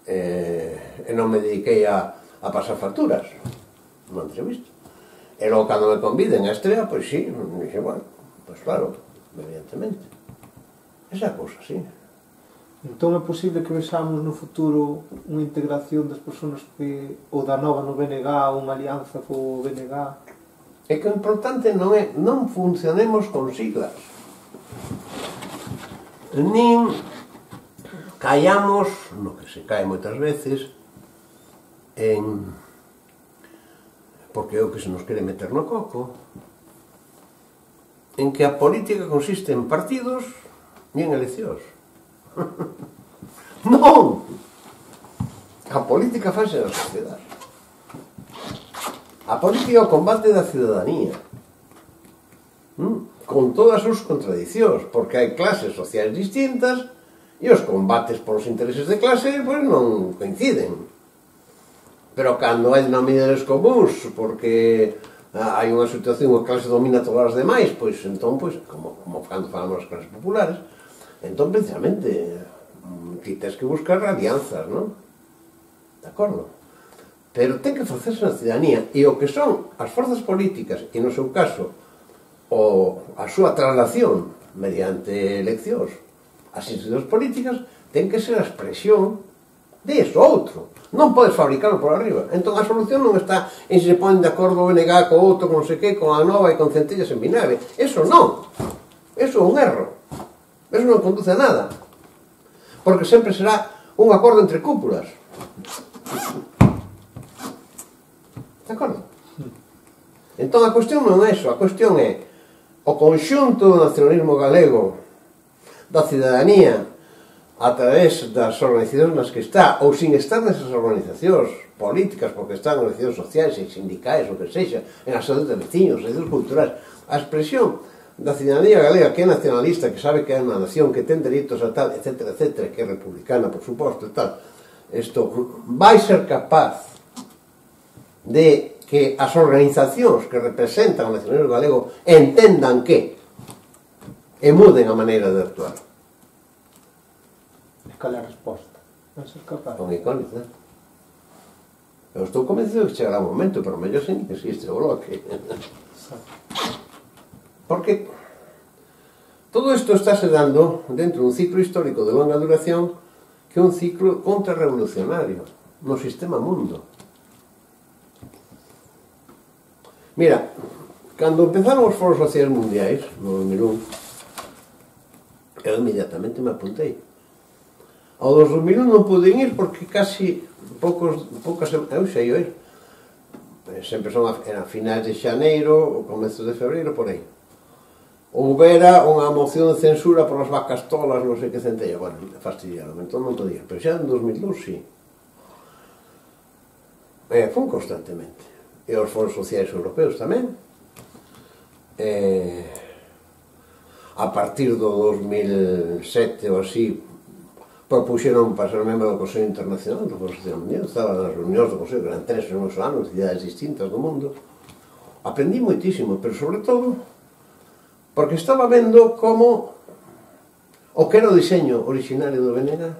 E non me dediquei a pasar facturas nunha entrevista. E logo cando me conviden a estrea, pois sí, dixe, bueno, pois claro, evidentemente. Esa cousa, sí. Entón é posible que vexamos no futuro unha integración das persoas que ou da nova no BNG, unha alianza co BNG? É que o importante non é non funcionemos con siglas, nin callamos, no que se cae moitas veces, porque é o que se nos quere meter no coco, en que a política consiste en partidos e en eleccións. Non! A política fase na sociedade. A política é o combate da ciudadanía, con todas as súas contradicións, porque hai clases sociais distintas e os combates polos intereses de clase pois non coinciden. Pero cando hai denominadores comuns, porque hai unha situación, a clase domina todas as demais, pois entón, pois, como cando falamos das clases populares, entón, precisamente, ti tens que buscar alianzas, non? De acordo? Pero ten que facerse na ciudadanía, e o que son as forzas políticas, e no seu caso, a súa traslación mediante eleccións, as institucións políticas, ten que ser a expresión de eso outro. Non podes fabricarlo por arriba. Entón a solución non está en se ponen de acordo o BNG co outro, con non sei que, con a nova e con centellas en vinagre. Eso non. Eso é un erro. Eso non conduce a nada. Porque sempre será un acordo entre cúpulas. De acordo? Entón a cuestión non é eso. A cuestión é o conxunto do nacionalismo galego, da cidadanía, a través das organizacións nas que está, ou sin estar nesas organizacións políticas, porque están organizacións sociais e sindicais, o que sexa, en asociacións de veciños, asociacións culturais, a expresión da cidadanía galega que é nacionalista, que sabe que é unha nación, que ten dereitos a tal, etc., etc., que é republicana, por suposto, e tal, isto vai ser capaz de que as organizacións que representan o nacionalismo galego entendan que e muden a maneira de actuar. Cal é a resposta? Non ser capaz. Con icónica. Eu estou convencido que chegará un momento, pero mellor sen que existe o bloque. Porque todo isto estáse dando dentro dun ciclo histórico de longa duración que é un ciclo contrarrevolucionario no sistema mundo. Mira, cando empezaron os foros sociais mundiais, no 2001, eu inmediatamente me apuntei. Ao 2001 non pude ir porque casi eu sei ir. Sempre son a finais de xaneiro, o comezo de febreiro, por aí. Houbera unha moción de censura por as vacas tolas, non sei que centella. Bueno, fastidiaron, entón non podía. Pero xa en 2002, sí. Fun constantemente. E os foros sociais europeos tamén. A partir do 2007 ou así, propuxeron para ser membro do Consello Internacional do Foro Social Mundial. Estaba nas reunións do Consello, que eran 3 en uns anos, cidades distintas do mundo. Aprendí moitísimo, pero sobre todo porque estaba vendo como o que era o diseño originario do BNG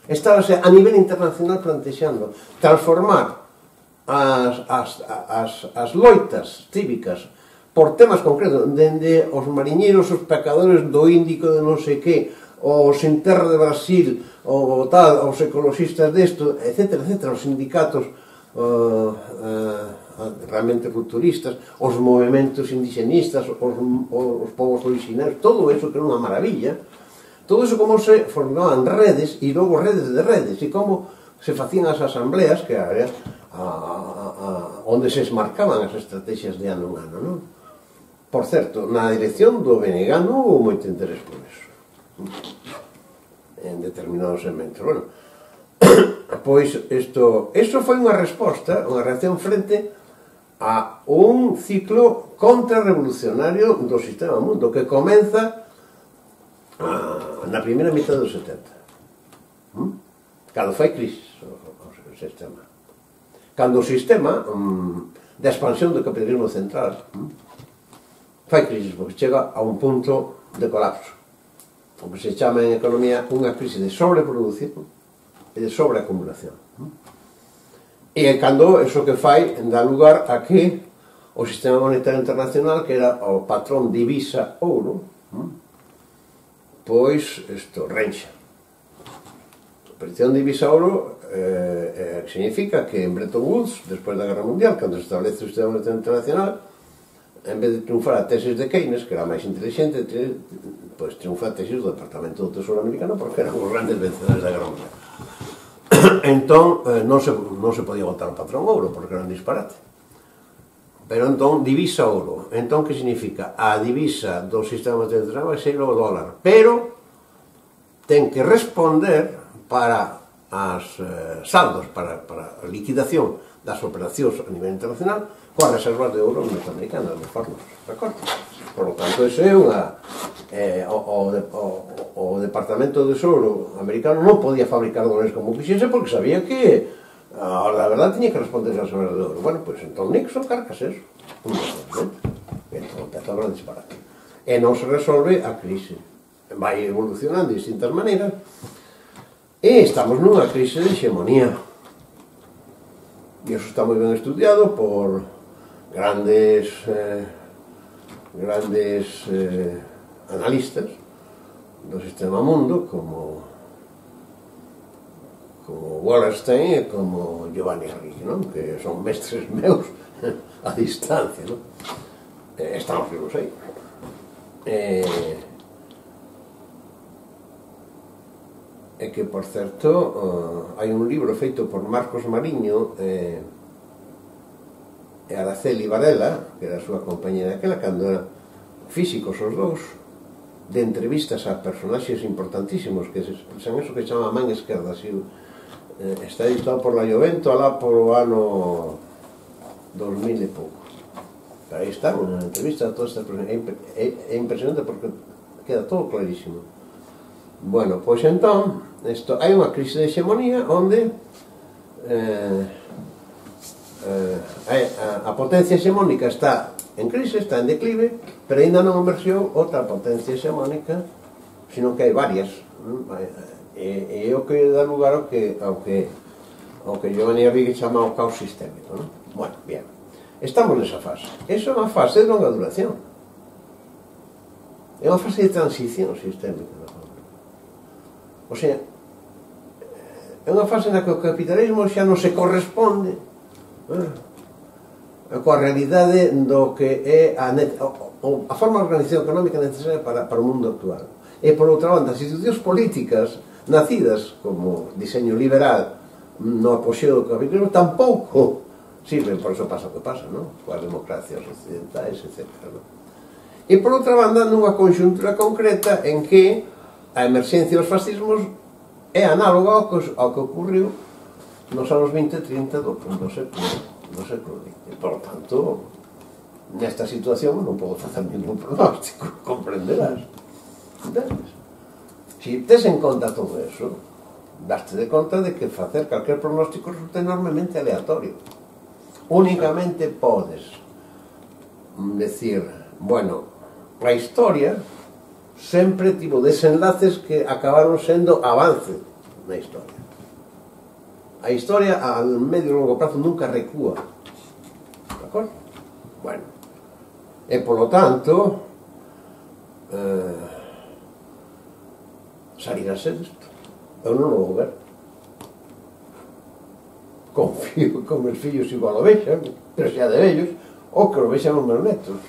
estábase a nivel internacional plantexando transformar as loitas cívicas por temas concretos, dende os mariñeiros, os pescadores do Índico de non sei que, o Sin Terra de Brasil, o tal, os ecologistas desto, etc., etc., os sindicatos realmente rupturistas, os movimentos indigenistas, os povos originarios, todo eso que era unha maravilla, todo eso como se formaban redes e logo redes de redes, e como se facían as asambleas, que era onde se esmarcaban as estrategias de ano en ano, non? Por certo, na dirección do BNG non houve moito interés por eso, en determinados segmentos. Bueno, pois isto foi unha resposta, unha reacción frente a un ciclo contrarrevolucionario do sistema mundo que comeza na primeira mitad dos 70, cando fai crisis o sistema, cando o sistema de expansión do capitalismo central fai crisis, porque chega a un punto de colapso, o que se chama en economía unha crisis de sobreproducción e de sobreacumulación. E cando eso que fai dá lugar a que o sistema monetario internacional, que era o patrón divisa ouro, pois isto renxa. A aparición de divisa ouro significa que en Bretton Woods, despois da Guerra Mundial, cando se establece o sistema monetario internacional, en vez de triunfar a tesis de Keynes, que era máis inteligente, pois triunfa a tesis do Departamento do Tesouro americano, porque eran os grandes vencedores da Guerra Mundial. Entón, non se podía botar o patrón ouro, porque era un disparate. Pero entón, divisa ouro. Entón, que significa? A divisa do sistema internacional vai ser o dólar. Pero ten que responder para as saldos, para a liquidación das operacións a nivel internacional coas reservas de ouro norteamericanas, nos fornos, de acordo? Por lo tanto, iso é unha... o Departamento de Tesouro americano non podía fabricar dólares como quixese porque sabía que a verdade tiña que responder ás reservas de ouro. Bueno, pois entón Nixon carcas eso. Entón empezou a disparate. E non se resolve a crise. Vai evolucionando de distintas maneiras e estamos nunha crise de hegemonía. E iso está moi ben estudiado por grandes analistas do sistema mundo como Wallerstein e como Giovanni Arrighi, non? Que son mestres meus a distancia, non? Estamos vivos aí. E que, por certo, hai un libro feito por Marcos Mariño e Araceli Varela, que era a súa compañera daquela, cando eran físicos os dous, de entrevistas a personaxes importantísimos que se expresan eso que chama a man esquerda. Está editado por La Jovento alá por o ano 2000 e pouco. Pero aí está, unha entrevista a todas estas personas. É impresionante porque queda todo clarísimo. Bueno, pois entón, hai unha crise de hegemonía onde a potencia hegemónica está en crise, está en declive, pero ainda non emerxeu outra potencia hegemónica, sino que hai varias. E é o que dá lugar ao que Giovanni Arrighi chama o caos sistémico, non? Bueno, bien, estamos nesa fase. Esa é unha fase de longa duración. É unha fase de transición sistémica. O sea, é unha fase na que o capitalismo xa non se corresponde coa realidade do que é a forma de organización económica necesaria para o mundo actual. E, por outra banda, as institucións políticas nacidas como diseño liberal no apoxeo do capitalismo tampouco sirven, por eso pasa o que pasa, non? Coas democracias occidentais, etc. E, por outra banda, nunha conxuntura concreta en que a emerxencia dos fascismos é análoga ao que ocurriu nos anos 20 e 30 do século XX. Por tanto, nesta situación non podo facer ningún pronóstico, comprenderás. Entendes? Se tes en conta todo eso, daste de conta de que facer calquer pronóstico resulta enormemente aleatorio. Únicamente podes decir, bueno, a historia sempre tivo desenlaces que acabaron sendo avance na historia. A historia a medio e longo prazo nunca recúa. De acordo? Bueno. E, polo tanto, salir a ser isto. Eu non o vou ver. Confío que os meus fillos igual o vexan, pero xa de vellos, ou que o vexan os meus netos.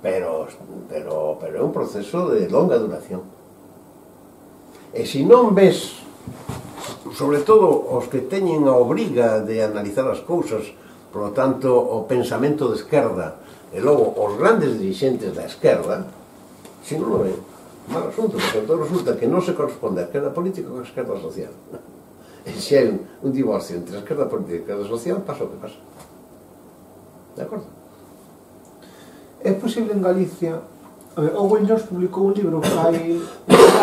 Pero é un proceso de longa duración. E se non ves, sobre todo os que teñen a obriga de analizar as cousas, por lo tanto, o pensamento de esquerda, e logo os grandes dirigentes da esquerda, se non o ven, mal asunto, porque entón resulta que non se corresponde a esquerda política con a esquerda social. E se hai un divorcio entre a esquerda política e a esquerda social, pasa o que pasa. De acordo? É posible en Galicia... Owen Jones publicou un libro hai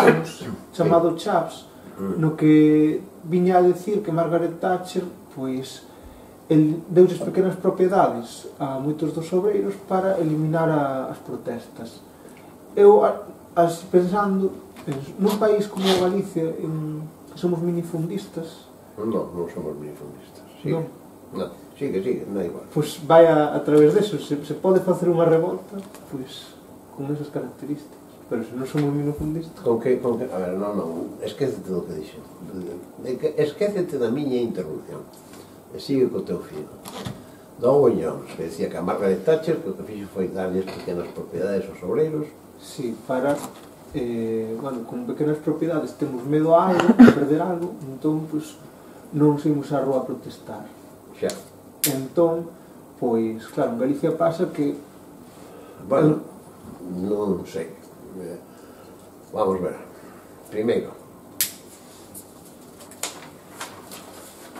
anos chamado Chaps, no que viña a decir que Margaret Thatcher pois deuses pequenas propiedades a moitos dos obreiros para eliminar as protestas. Eu, pensando, nun país como Galicia, que somos minifundistas... Non somos minifundistas. Sigue. Non, sigue, non é igual. Pois vai a través deso, se pode facer unha revolta, pois con esas características. Pero se non somos minifundistas... Con que, a ver, non, esquécete do que dixo. Esquécete da miña interrupción. E sigue co teu filo. Owen Jones, que decía que a Margaret Thatcher que o que fixo foi darlles pequenas propiedades aos obreiros. Sí, para bueno, con pequenas propiedades temos medo a algo, a perder algo, entón, pois, non saímos á rúa a protestar. Xa. Entón, pois, claro, en Galicia pasa que... Bueno, non sei. Vamos ver. Primeiro,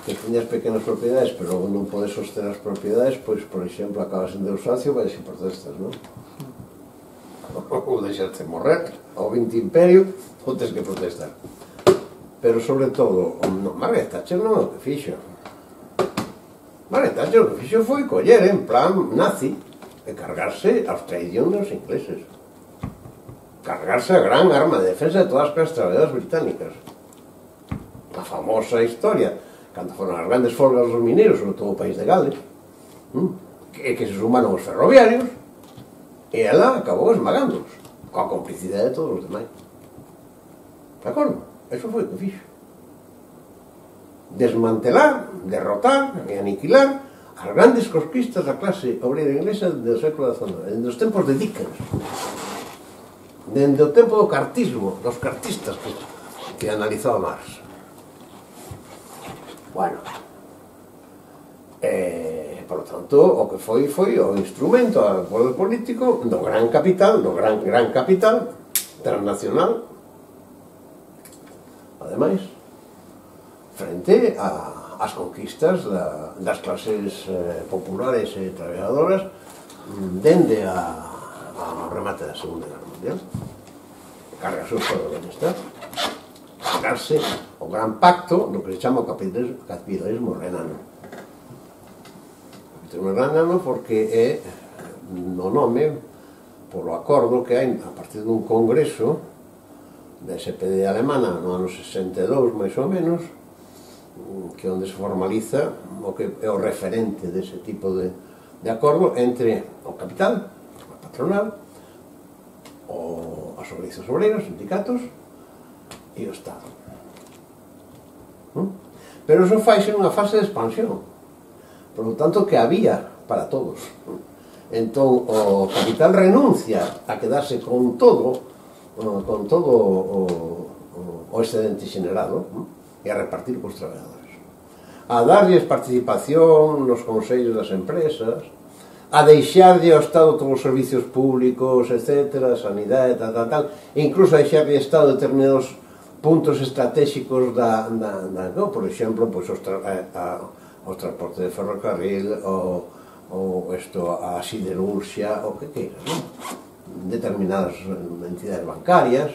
que teñas pequenas propiedades, pero logo non podes sostener as propiedades, pois, por exemplo, acabas en desahucio, vais e protestas, non? Ou deixaste morrer, ou 20 imperio, ou tens que protestar. Pero, sobre todo, Margaret Thatcher non é o que fixo. Margaret Thatcher o que fixo foi coller en plan nazi e cargarse aos traición dos ingleses. Cargarse a gran arma de defensa de todas as clases traballadoras británicas. A famosa historia, cando foron as grandes folgas dos mineiros, sobre todo o país de Gales, que se sumaron os ferroviarios, e ela acabou esmagándolos, coa complicidade de todos os demais. De acordo? Eso foi o que fixo. Desmantelar, derrotar e aniquilar as grandes conquistas da clase obreira inglesa do século XIX, dende os tempos de Dickens, dende o tempo do cartismo, dos cartistas que analizaba Marx. Bueno, por lo tanto, o que foi o instrumento ao poder político do gran capital, transnacional, ademais, frente ás conquistas das clases populares e traballadoras dende ao remate da Segunda Guerra Mundial. Cargarse o Estado de Bienestar, cargarse o gran pacto do que se chama o capitalismo renano. Capitalismo renano porque é no nome polo acordo que hai a partir dun congreso da SPD alemana no ano 62, máis ou menos, que onde se formaliza o que é o referente dese tipo de acordo entre o capital, a patronal, as organizacións obreiras, os sindicatos e o Estado. Pero iso faise nunha fase de expansión, por lo tanto que había para todos. Entón o capital renuncia a quedarse con todo o excedente xenerado e a repartir cos traballadores, a darlles participación nos consellos das empresas, a deixarlle ao Estado todos os servicios públicos, etc., sanidade, tal, e incluso a deixarlle ao Estado determinados puntos estratégicos por exemplo, o transporte de ferrocarril, a siderurgia, o que queiras, determinadas entidades bancarias,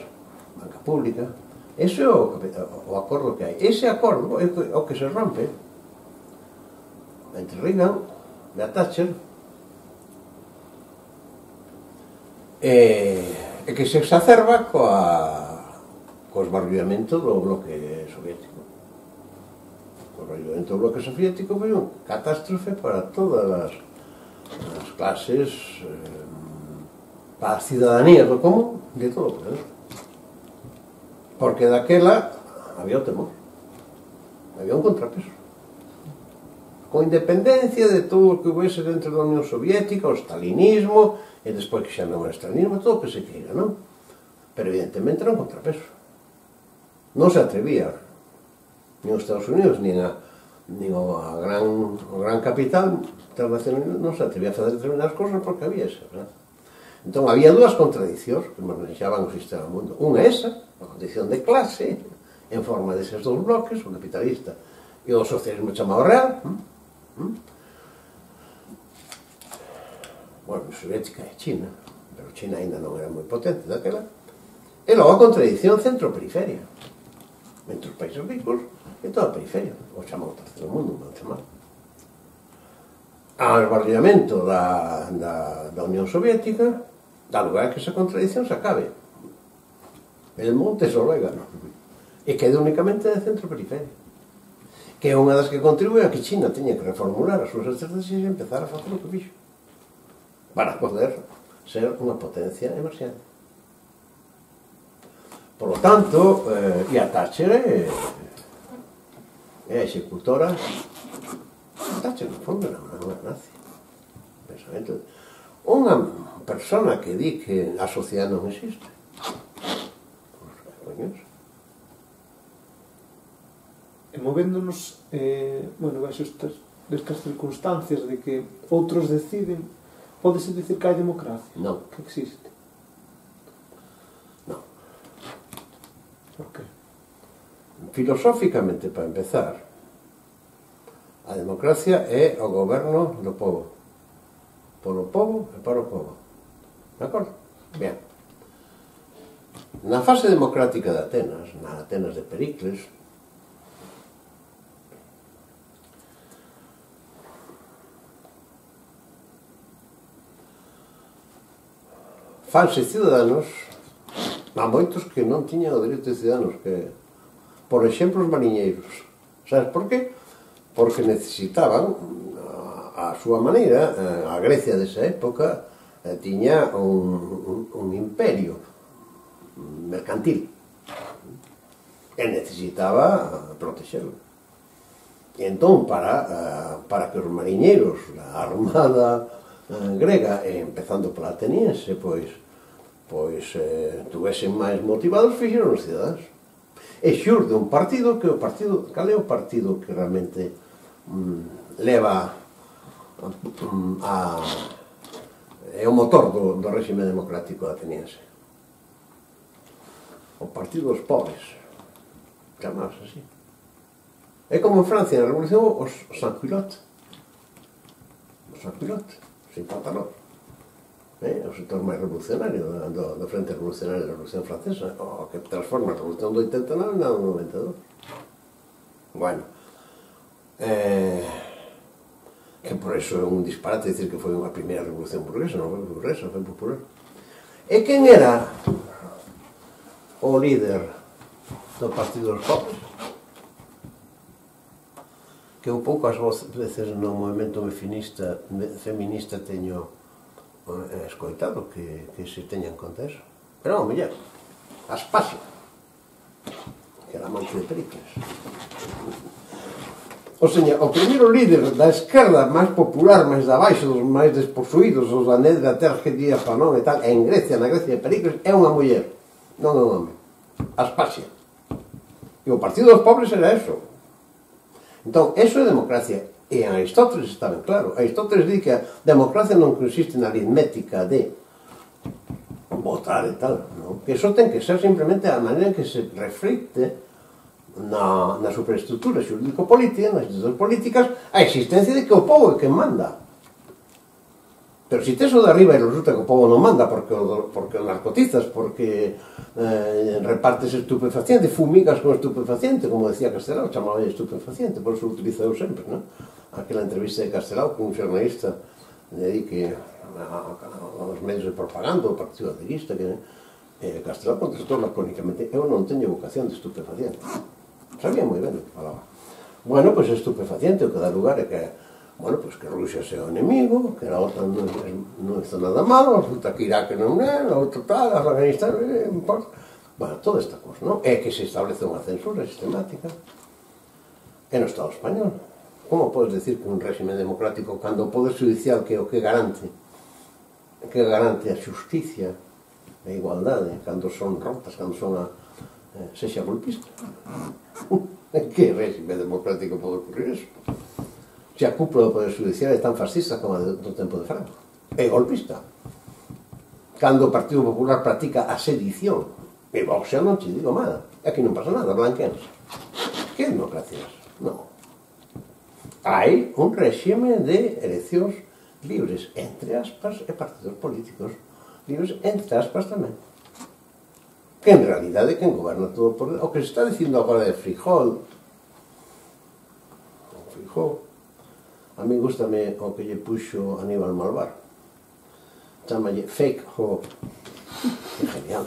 banca pública. Ese é o acordo que hai. Ese acordo é o que se rompe entre Reagan e a Thatcher, e que se exacerba co esbarullamento do bloque soviético. O esbarullamento do bloque soviético foi unha catástrofe para todas as clases, para as ciudadanías do común de todo o planeta. Porque daquela había o temor, había un contrapeso, con independencia de todo o que houvese dentro da Unión Soviética, o stalinismo, e despois que xa non era stalinismo, todo o que se queira, non? Pero evidentemente era un contrapeso. Non se atrevía, nin os Estados Unidos, nin o gran capital internacional, non se atrevía a fazer determinadas cousas porque había esa, non? Entón, había dúas contradicións que manejaban o sistema do mundo. Unha é esa, a condición de clase, en forma deses dous bloques, o capitalista e o socialismo chamado real. Bueno, a soviética é China, pero China ainda non era moi potente daquela. E logo a contradición centro-periferia, entre os países ricos e toda a periferia, o chamado terceiro mundo, non chamado. Ao esbarullamento da Unión Soviética, dá lugar a que esa contradición se acabe. El monte es orégano. E queda únicamente de centro-periferia, que é unha das que contribui a que China teña que reformular as súas estrategias e empezar a facer o que fixo para poder ser unha potencia emerxente. Por lo tanto, e a Thatcher é a executora. Thatcher, no fondo, era unha nazi. Pensamento. Unha persona que di que a sociedade non existe, coños. E movéndonos, baixo destas circunstancias de que outros deciden, pódese dicir que hai democracia? Non. Que existe? Non. Por qué? Filosóficamente, para empezar, a democracia é o goberno do povo. Polo povo e para o povo. De acordo? Bien. Na fase democrática de Atenas, na Atenas de Pericles, fanse ciudadanos, há moitos que non tiñan o dereito de ciudadanos, que, por exemplo, os mariñeiros. Sabes por qué? Porque necesitaban, a súa maneira, a Grecia desa época tiña un imperio mercantil e necesitaba protexerlo. E entón, para que os mariñeiros, a armada grega, empezando pola ateniense, pois tuvesen máis motivados, fixeron os cidadáns. E xurde un partido que cal é o partido que realmente leva é o motor do réxime democrático ateniense? O Partido dos Pobres, chamados así. É como en Francia, na Revolución, os sans-culottes, sin pantalón. O sector máis revolucionario do Frente Revolucionario da Revolución Francesa, o que transforma a Revolución do 89 na do 92. Bueno, que por eso é un disparate dicir que foi unha primeira revolución burguesa, non foi burguesa, foi popular. E quen era o líder do Partido dos Pobres? Que un pouco as veces no movimento feminista teño escoitado que se teña en conta eso. Pero, mellor, Aspasia, que era amante de Pericles. O seña, o primeiro líder da esquerda máis popular, máis da baixo, dos máis desposuídos, os da Nedra Tergedia Panón e tal, en Grecia, na Grecia de Pericles, é unha muller, non é un home. Aspasia. E o Partido dos Pobres era eso. Entón, eso é democracia. E en Aristóteles está ben claro. Aristóteles di que a democracia non consiste na aritmética de votar e tal, non? Que iso ten que ser simplemente a maneira en que se reflicte na superestructura xurídico-política, nas institucións políticas, a existencia de que o povo é quen manda. Pero se tes o de arriba e resulta que o povo non manda porque o narcotizas, porque repartes estupefaciente, fumigas con estupefaciente, como decía Castelao, chamaba estupefaciente, por eso o utilizo eu sempre, non? Aquela entrevista de Castelao con un xornalista que aos medios de propaganda do Partido Ateísta, que Castelao contestou lacónicamente: eu non teño vocación de estupefaciente. Sabía moi ben o que falaba. Bueno, pois estupefaciente, o que dá lugar é que que Rusia sea o enemigo, que a OTAN non hizo nada malo, resulta que Irak non é, a outra tal, Afganistán, non importa. Bueno, toda esta cosa, non? É que se establece unha censura sistemática. E no Estado español, como podes decir que un réxime democrático, cando o Poder Judicial, que é o que garante a xusticia, a igualdade, cando son rotas, cando son sexa golpista? En que réxime democrático pode ocurrir eso? Se a cúpula do Poder Judicial é tan fascista como a do tempo de Franco. É golpista. Cando o Partido Popular practica a sedición, e Vox xa non te digo nada. Aquí non pasa nada, blanquenos. Que democracias? Non. Hai un réxime de eleccións libres, entre aspas, e partidos políticos libres, entre aspas tamén. Que en realidade quen goberna todo por... O que se está dicindo agora de Frijol, a mí gustame o que lle puxo Aníbal Malvar. Chámalle fake ho. Que genial.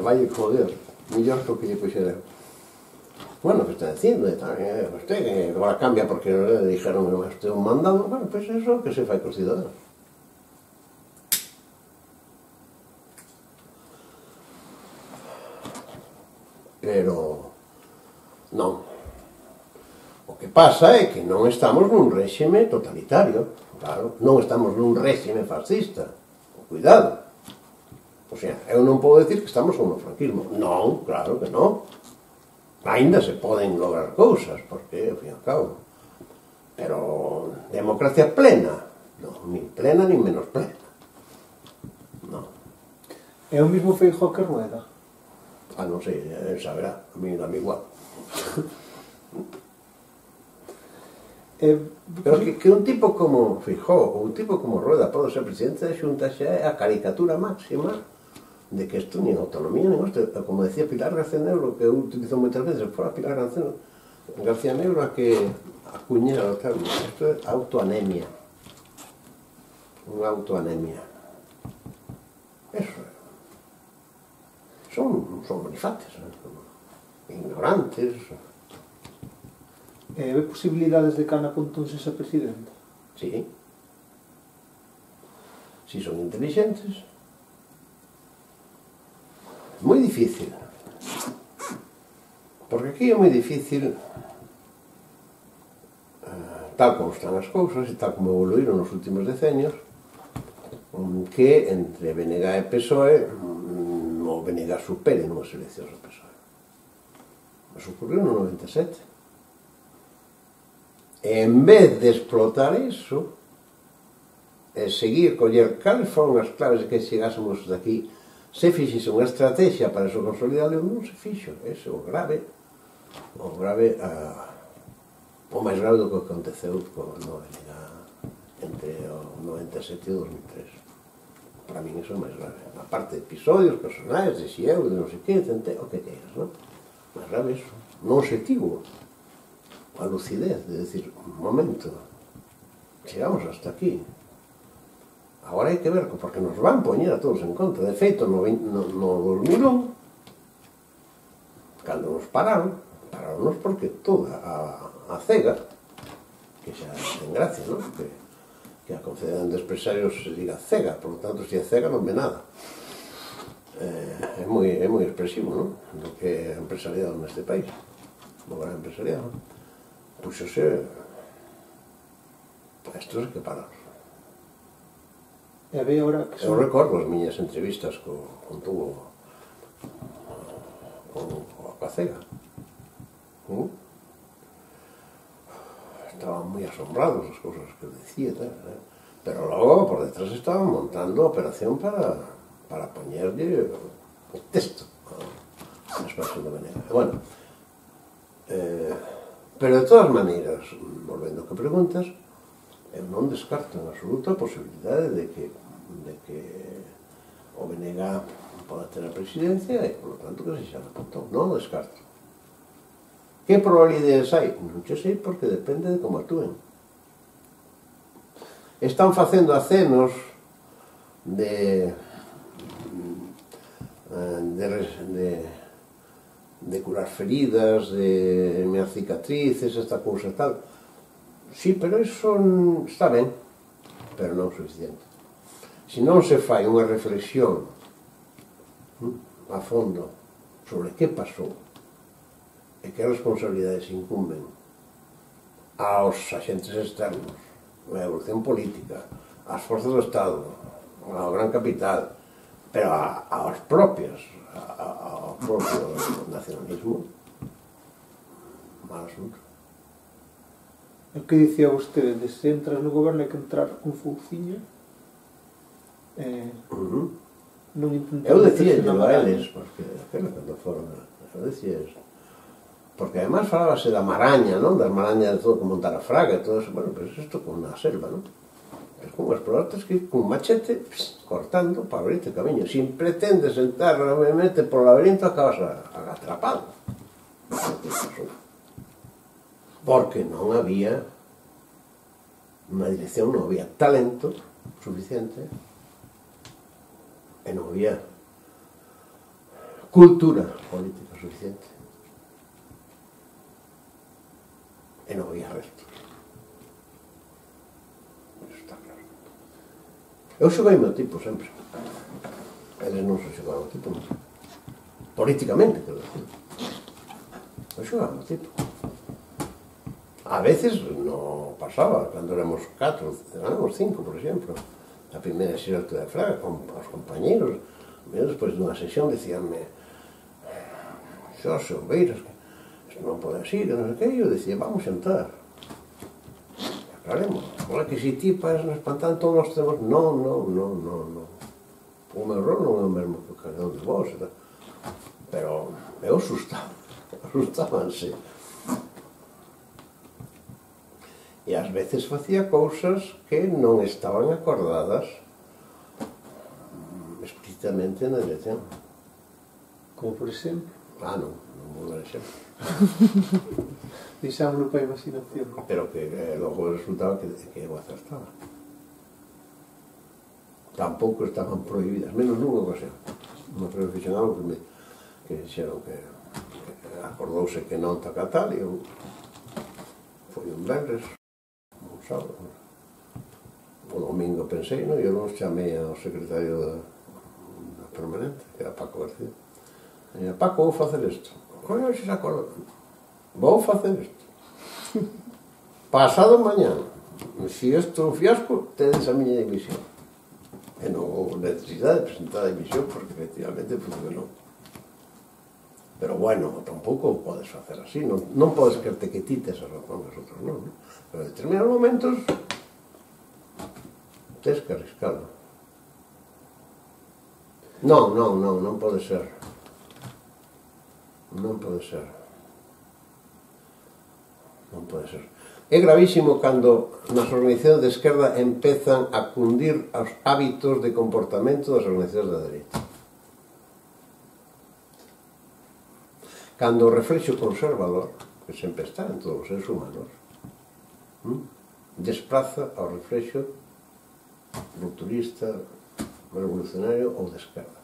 Vai joder. Millor que o que lle puxera. Bueno, que está dicindo, usted que agora cambia porque le dijeron que usted un mandado. Bueno, pues eso que se fai cos ciudadanos. Pero non. O que pasa é que non estamos nun réxime totalitario, claro, non estamos nun réxime fascista. Cuidado. Os sea, eu non podo decir que estamos con o franquismo. Non, claro que non. Ainda se poden lograr cousas, porque, ao fin e ao cabo. Pero democracia plena? Non, nin plena, nin menos plena. Non. É o mismo Feijóo que Rueda? Non sei, saberá, a mí dame igual. Pero que un tipo como Feijóo ou un tipo como Rueda pode ser presidente da Xunta xa é a caricatura máxima de que isto nin autonomía nin isto, como decía Pilar García Negro, que eu utilizo moitas veces, fora Pilar García Negro a que acuñera o termo, isto é autoanemia, unha autoanemia, eso é. Son manifates, ignorantes. Ve posibilidades de que Ana Pontón sexa presidenta? Sí. Si son inteligentes. Moi difícil. Porque aquí é moi difícil, tal como están as cousas e tal como evoluíron nos últimos decenios, que entre BNG e PSOE o BNG supere nunhas eleccións ao PSOE. Mas ocurriu no 97. E en vez de explotar iso e seguir coller cales foron as claves de que chegásemos daqui, se fixese unha estrategia para eso consolidado, non se fixo. Ese é o grave, o máis grave do que aconteceu no BNG entre o 97 e o 2003. Para min iso é máis grave. A parte de episodios personais, de si eu, de non sei que, o que queiras, non? Máis grave iso. Non se tivo a lucidez de decir, un momento, chegamos hasta aquí. Agora hai que ver, porque nos van poñer a todos en contra. De feito, no 2001, cando nos pararonnos porque toda a CEGA, que xa ten gracia, non? Que a Confederación de Empresarios se diga CEGA, por lo tanto, se é CEGA non ve nada. É moi expresivo, non? Do que é empresariado neste país. O gran empresariado. Puxose estos é que pararon. Eu recordo as miñas entrevistas con Tubo coa CEGA. Estaban moi asombrados as cousas que decía, pero logo por detrás estaban montando a operación para poñerlle o texto a expansión da BNG. Bueno, pero de todas maneiras, volvendo ao que preguntas, eu non descarto en absoluto a posibilidade de que o BNG poda ter a presidencia e, por lo tanto, que se xa Pontón. Non o descarto. Que probabilidades hai? Non che sei, porque depende de como actúen. Están facendo acenos de curar feridas, de mear cicatrices, esta cousa e tal. Sí, pero iso está ben, pero non suficiente. Se non se fai unha reflexión a fondo sobre que pasou e que responsabilidades incumben aos agentes externos, a evolución política, ás forzas do Estado, ao gran capital, pero aos propios, ao propio nacionalismo, mal asunto. O que dicía vostede, de se entras no goberno hai que entrar con fouciño? Eu decía a eles, porque aquela cando foron, eu decía eso, porque además falábase da maraña, non? Das marañas de todo, como montar a fraga e todo eso. Bueno, pues isto con unha selva, non? Es como explorar, tens que ir con un machete cortando para abrirte camiño. Sin pretendes entrar realmente por o laberinto, acabas atrapado. Porque non había unha dirección, non había talento suficiente e non había cultura política suficiente e non había restos. Eso está claro. Eu xoguei meu tipo sempre. Eles non se xogaban o tipo, non. Políticamente, quero decir. Eu xogaba o tipo. A veces non pasaba, cando éramos 4, éramos 5, por exemplo. A primeira xeraltura de Fraga, con os compañeros, E despois dunha sesión dicíanme: Xorxe Ombeiras, isto non pode así, que non sei que. E eu dicía: vamos xantar, aclaremos. Ola que se ti para nos espantar, todos nós temos. Non. O meu rol non é o mesmo que cada un de vos, pero eu asustabanse. E ás veces facía cousas que non estaban acordadas explícitamente na dirección. Como por exemplo? Non vou dar exemplo. Deixámoslo para a imaginación. Pero que logo resultaba que eu acertaba. Tampouco estaban prohibidas, menos nunha ocasión. Unha vez fixen algo que dixeron que acordouse que non toca tal, e eu foi un venres, un sábado. O domingo pensei, e eu non chamei ao secretario da permanente, que era Paco García. E dixen: Paco, vou facer isto. Coño, se se acorda. Vou facer isto. Pasado mañana, se isto é un fiasco, tedes a miña dimisión. E non houve necesidade de presentar a dimisión, porque efectivamente funcionou. Pero bueno, tampouco podes facer así, non podes querte que ti tes a razón, os outros non. Pero en determinados momentos tes que arriscalo. Non pode ser. Non pode ser. Non pode ser. É gravísimo cando nas organizacións de esquerda empezan a cundir os hábitos de comportamento das organizacións da dereita. Cando o reflexo conservador, que sempre está en todos os seres humanos, desplaza ao reflexo rupturista, revolucionario ou de esquerda.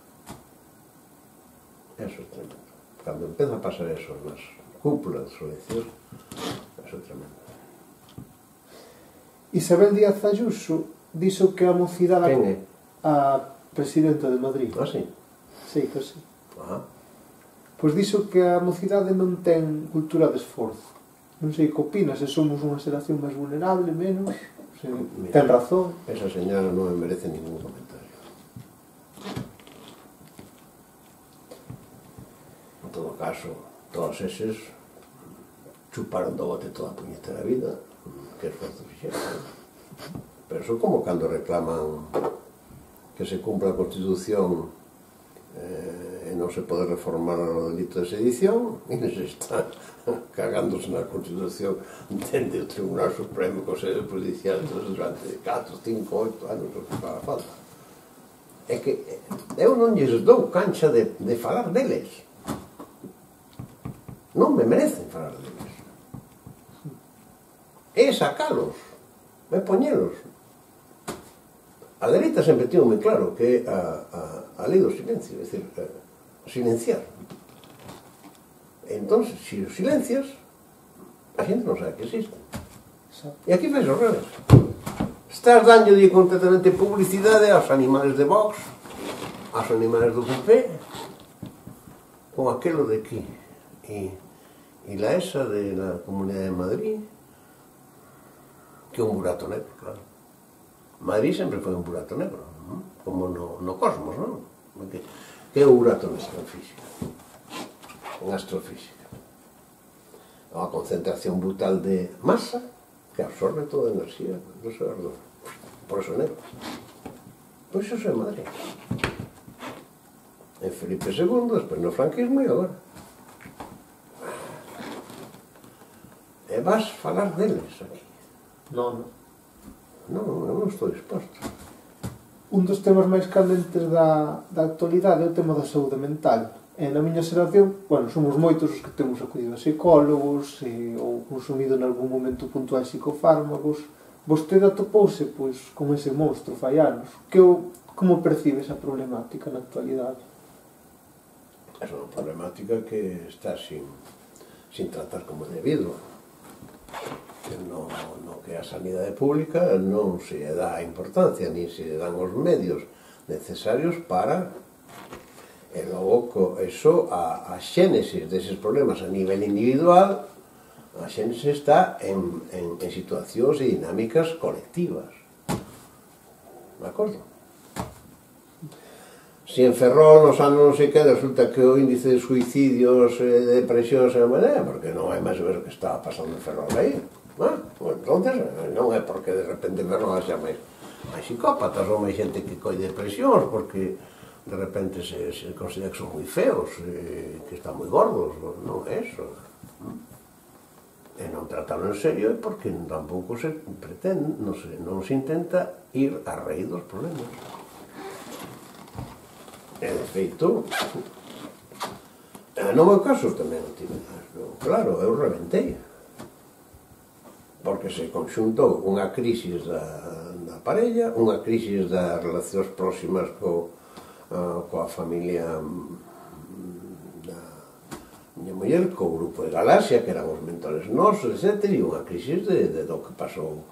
Eso é tremendo. Cando empeza a pasar eso nas cúpulas das organizacións, eso é tremendo. Isabel Díaz Ayuso dixo que a mocidade... Quen é? A presidenta de Madrid. Ah, sí? Sí, que sí. Pois dixo que a mocidade non ten cultura de esforzo. Non sei que opinas, se somos unha xeración máis vulnerable, menos... Ten razón. Esa señora non me merece ningún comentario. En todo caso, todos eses chuparon do bote toda a puñetera vida. Que esforzo fixeron. Pero son como cando reclaman que se cumpla a Constitución e non se pode reformar o delito de sedición, e se está cagándose na Constitución dende o Tribunal Supremo co sede judicial durante 4, 5, 8 anos o que faga falta. É que eu non lles dou cancha de falar deles. Non me merecen falar deles. É sacalos, é poñelos. A dereita sempre tivo moi claro que é a lei do silencio, é dicir, silenciar. Entón, se os silencias, a xente non sabe que existe. E aquí faz ao revés. Estás dándolle completamente publicidade aos animales de Vox, aos animales do PP, con aquelo de aquí. E la esa de la Comunidade de Madrid, que é un burato negro, claro. Madrid sempre foi un burato negro, como no cosmos, non? Que é o burato negro en física, en astrofísica. É unha concentración brutal de masa que absorbe toda a enerxía do seu ardor. Por eso é negro. Pois iso é Madrid. En Felipe II, despois no franquismo e agora. E vas falar deles aquí. Non, eu non estou disposto. Un dos temas máis candentes da actualidade é o tema da saúde mental. E na miña xeración, somos moitos os que temos acudido a psicólogos ou consumido en algún momento puntual psicofármacos. Vostede atopouse con ese monstro fai anos. Como percibe esa problemática na actualidade? É unha problemática que está sin tratar como debido. No que a sanidade pública non se dá importancia ni se dan os medios necesarios para e logo eso a xénesis deses problemas a nivel individual, a xénesis está en situacións e dinámicas colectivas, de acordo? Si en Ferrol nos anos non sei que resulta que o índice de suicidios e de depresións é porque non é máis ver o que estaba pasando en Ferrol aí. Entonces non é porque de repente Ferrol xa máis psicópatas ou máis xente que coi depresións porque de repente se considera que son moi feos, que están moi gordos, non é eso. E non tratarlo en serio é porque tampouco se pretende, non se intenta ir a raíz dos problemas. E de feito, no meu caso tamén o tive, claro, eu reventei, porque se conxuntou unha crisis da parella, unha crisis das relacións próximas coa familia da miña muller, co grupo de Galaxia, que eran os mentores nosos, etc., e unha crisis do que pasou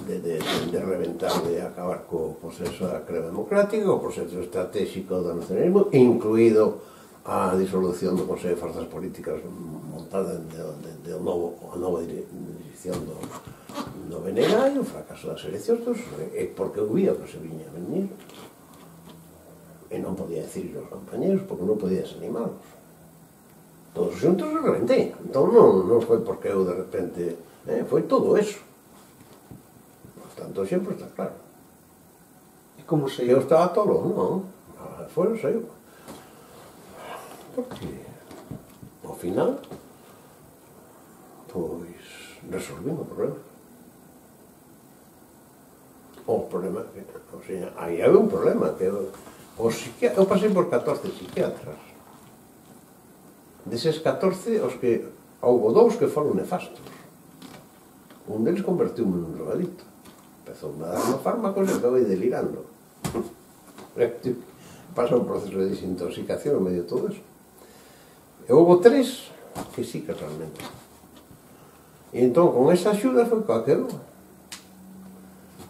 de reventar, de acabar co proceso da crema democrática, o proceso estratégico do nacionalismo, incluído a disolución do Consello de Forzas Políticas montada a nova dirección do BNG, e o fracaso das eleccións, porque eu vía que se viña a venir, e non podía decir aos compañeros, porque non podía desanimalos. Todos xuntos se reventei. Entón non foi porque eu de repente, foi todo eso. Por tanto, sempre está claro. E como se... Eu estaba tolo, non. Fora saiu. Porque, ao final, pois, resolvimos o problema. O problema, o sea, aí había un problema, que eu pasei por 14 psiquiatras. Deses 14, houve 2 que foron nefastos. Un deles convertiu-me nun drogadito. Empezou a dar fármacos e acabei delirando. Pasa un proceso de desintoxicación en medio de todo eso. E houve 3 que sí que realmente. E entón, con esa axuda foi coa que eu.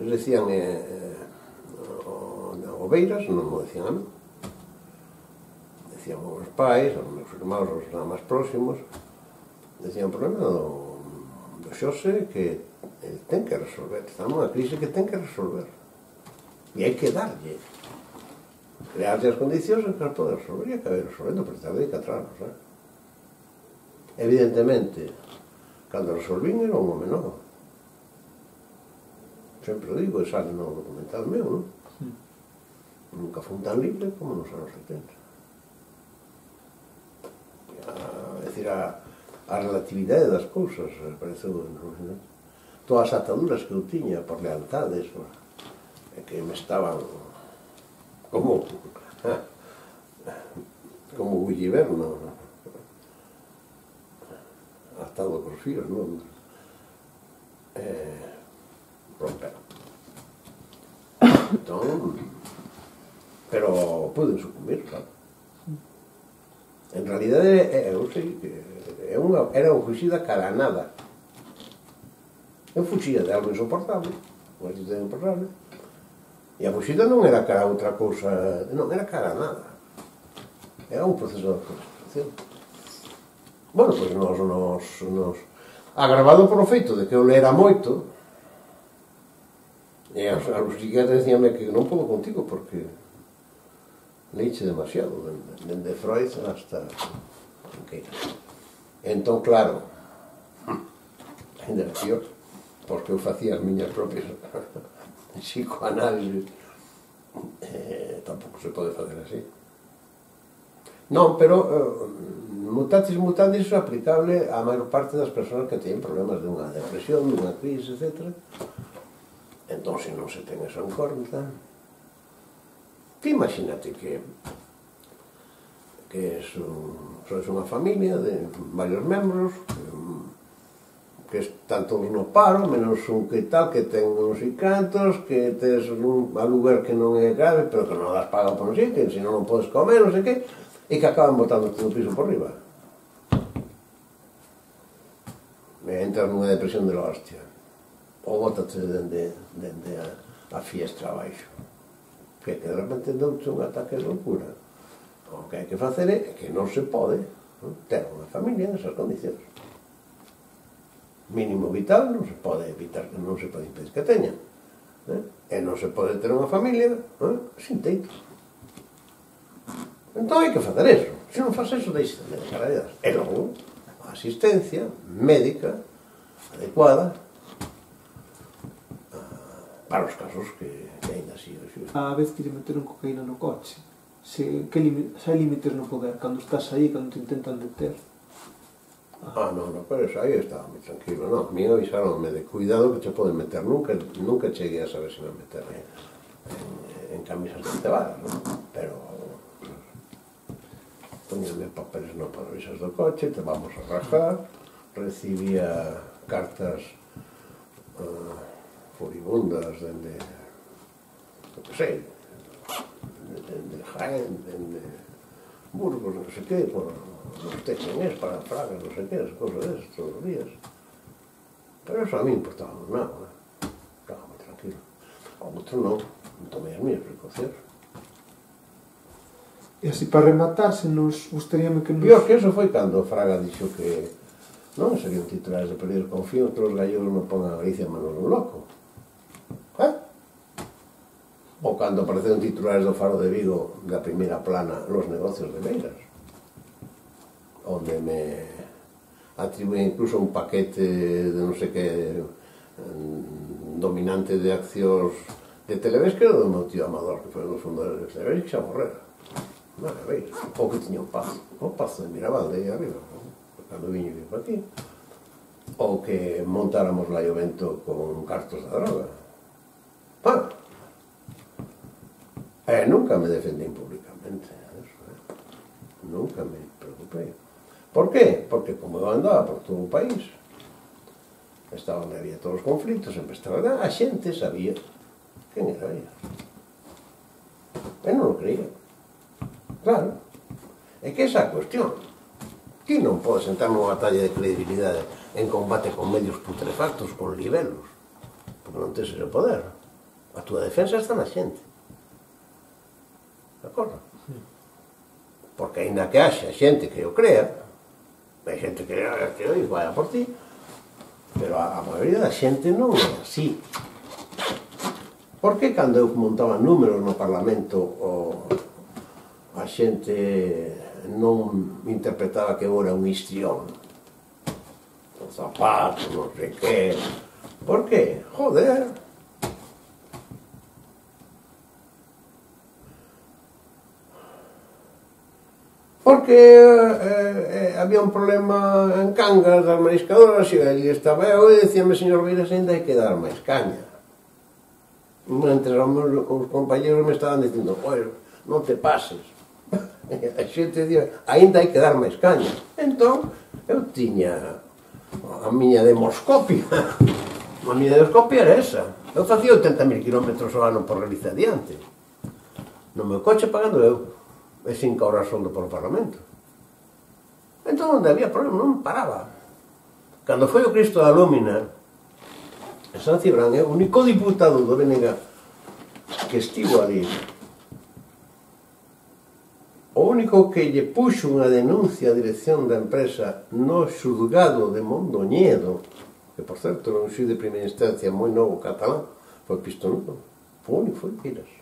Eles decían oveiras, non mo decían a mí. Decían os meus pais, os meus irmãos, os máis próximos, decían o problema do Xose que ele ten que resolver, está nunha crise que ten que resolver, e hai que darlle, crearlle as condicións en que as pode resolver, e acabe resolvendo, pero tardei 4 anos. Evidentemente, cando resolvín era un home novo. Sempre o digo, e sale no documental meu, non? Nunca fui tan libre como nos anos 70. É dicir, a relatividade das cousas pareceu, todas as ataduras que eu tiña por lealtades que me estaban como Gulliver atado cos fíos, non? Romperon. Entón, pero pude sucumbir, claro. En realidade, eu sei que era unha fuxida cara a nada. Eu fuxía de algo insoportable, unha situación insoportable, e a fuxida non era cara a outra cousa, non, era cara a nada. Era un proceso de frustración. Bueno, pois nos agravado por o feito de que eu lera moito, e os psiquiatras decíanme que non podo contigo porque leiche demasiado, dende Freud hasta Queira. Entón, claro, ainda peor, porque eu facía as miñas propias psicoanálisis, tampouco se pode facer así. Non, pero mutatis mutandis é aplicable á maior parte das persoas que teñen problemas de unha depresión, de unha crise, etc. Entón, se non se ten eso en conta, que imagínate que sois unha familia de varios membros que están todos no paro, menos un que tal, que ten uns e cantos, que tes un aluguer que non é grave, pero que non das paga por non sei, que se non podes comer, non sei que, e que acaban botando todo o piso por riba. E entras nunha depresión de la hostia. Ou bótate dende a fiestra abaixo. Que de repente douche un ataque de locura. O que hai que facer é que non se pode ter unha familia nesas condicións. Mínimo vital non se pode evitar, non se pode impedir que teñan. E non se pode ter unha familia sin teito. Entón hai que facer eso. Se non faz eso, deixe de carallas. E logo, a asistencia médica adecuada para os casos que ainda así o xusto. A vez que lle meteron cocaína no coche, se hai límites no poder, cando estás aí, cando te intentan deter. Non, pero eso aí estaba moi tranquilo, non. A mí avisaronme de cuidado que te poden meter. Nunca cheguei a saber se me meter en camisas de cebadas, non? Pero poñenme papeles no parabrisas do coche, te vamos a rascar, recibía cartas furibundas dende, non sei, dende Jaén, dende Burgos, non sei que, por los techenes para Praga, non sei que, as cosas desas, todos os días. Pero eso a mí importaba nada, estaba moi tranquilo. Ao outro non tomei as mías precaucións. E así, para rematar, se nos gustaríame que nos... Pior que eso foi cando Fraga dixo que non serían titulares de periódico, confío que os gallegos non pongan a Galicia en manos dun loco. Ou cando apareceron titulares do Faro de Vigo da primeira plana los negocios de Beiras, onde me atribuí incluso un paquete de non sei que dominante de accións de Televes, que era do meu tío Amador, que foi un dos fundadores de Televes, que xa morrera. Ou que tiña o Pazo de Miravalde aí arriba, cando viño para aquí, ou que montáramos lá o vento con cartos da droga. Nunca me defendín públicamente, nunca me preocupei. Por qué? Porque como eu andaba por todo o país, estaba onde había todos os conflitos, sempre estaba, a xente sabía quen era ella. Eu non o creía. Claro, é que esa é a cuestión. Ti non podes entrar nunha batalla de credibilidade en combate con medios putrefactos, con libelos, porque non tes ese poder. A túa defensa está na xente. De acordo? Porque ainda que haxa xente que o crea, hai xente que vaya por ti, pero a maioría da xente non é así. Por que cando eu montaba números no Parlamento a xente non interpretaba que eu era un histrión, un zapato, non sei que? Por que? Joder! Porque había un problema en Cangas das mariscadoras e ali estaba eu e dicíame, señor Beiras, ainda hai que dar máis caña. Mentre os compañeros me estaban dicindo, pois, non te pases. A xente dicía, ainda hai que dar máis caña. Entón, eu tiña a miña demoscopia. A miña demoscopia era esa. Eu facía 80.000 kilómetros ao ano por Galicia adiante. No meu coche pagando eu. E 5 horas soldo polo Parlamento. Entón, onde había problema, non paraba. Cando foi o Cristo da Lómina, en San Cibrán, é o único diputado do BNG que estivo ali. O único que lle puxo unha denuncia a dirección da empresa no xulgado de Mondoñedo, que, por certo, era un xuiz de primeira instancia moi novo catalán, foi Pistonudo. O único foi Piras.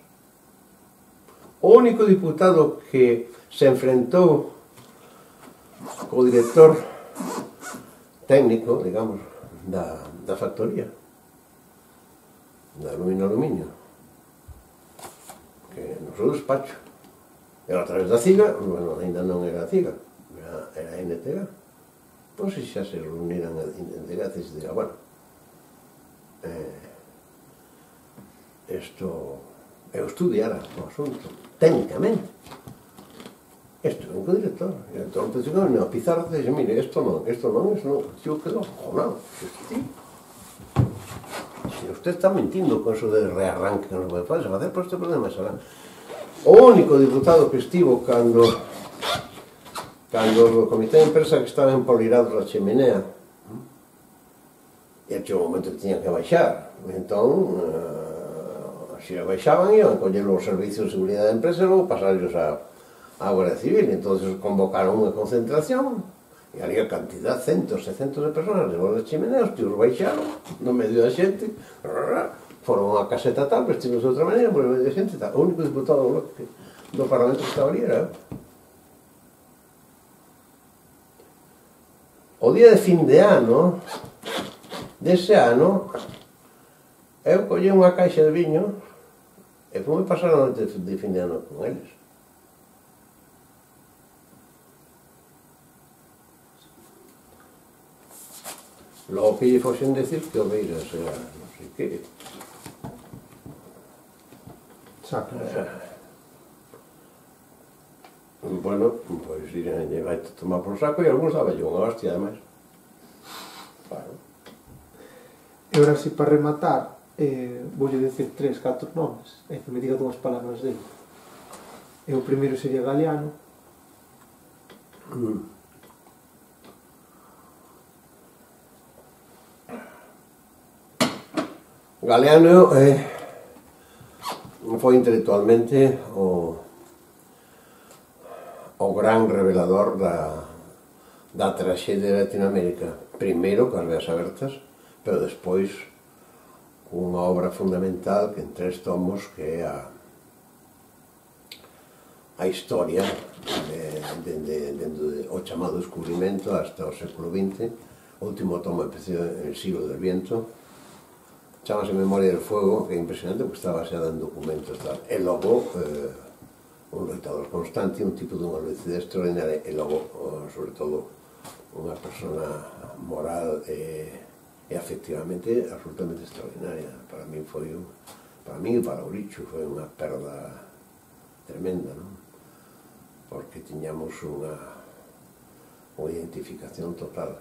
O único diputado que se enfrentou co director técnico, digamos, da factoría, da Aluminio, que no seu despacho. Era a través da CIGA, bueno, ainda non era a CIGA, era a NTG. Pois se xa se reuniran en NTG, e se diga, bueno, eu estudiara o asunto, técnicamente. Isto é un co-director. E entón, a pizarra dixe, mire, isto non, tío quedou cojonado. Se usted está mentindo con eso de rearranque que nos vai facer, por este problema será. O único diputado que estivo cando o comité de empresa que estaba empolirados a cheminea, e chegou un momento que tiñan que baixar, entón se baixaban iban a coller os servicios de seguridade da empresa e logo pasarlos a Guardia Civil. Entón convocaron unha concentración e ali a cantidad, centos e centos de personas de volta da chimenea, os tíos baixaron no medio da xente, foron a caseta tal, vestidos de outra maneira, por medio da xente tal. O único diputado do bloque do Parlamento que estaba ali era o día de fin de ano dese ano eu collei unha caixa de viño e fome pasar a noite de fin de ano con eles. Logo que lle foxen decir que o Beiras era non sei que. Saco. Bueno, pois iranlle vai tomar por saco e algúns daba yo unha hostia, ademais. Claro. E ahora si para rematar voulle decir 3, 4 nomes e que me diga dúas palabras dele. E o primeiro sería Galeano. Galeano foi intelectualmente o gran revelador da traxedia de Latinoamérica. Primeiro coas Veas Abertas, pero despois unha obra fundamental que en 3 tomos que é a historia dende o chamado descubrimento hasta o século XX. O último tomo empecé en el siglo del viento, chamase Memoria del Fuego, que é impresionante porque está baseada en documentos tal. E logo un loitador constante, un tipo dunha lucidez extraordinaria, e logo, sobre todo, unha persona moral e afectivamente absolutamente extraordinaria. Para mí foi para mí e para o Licho foi unha perda tremenda, non? Porque tiñamos unha identificación total.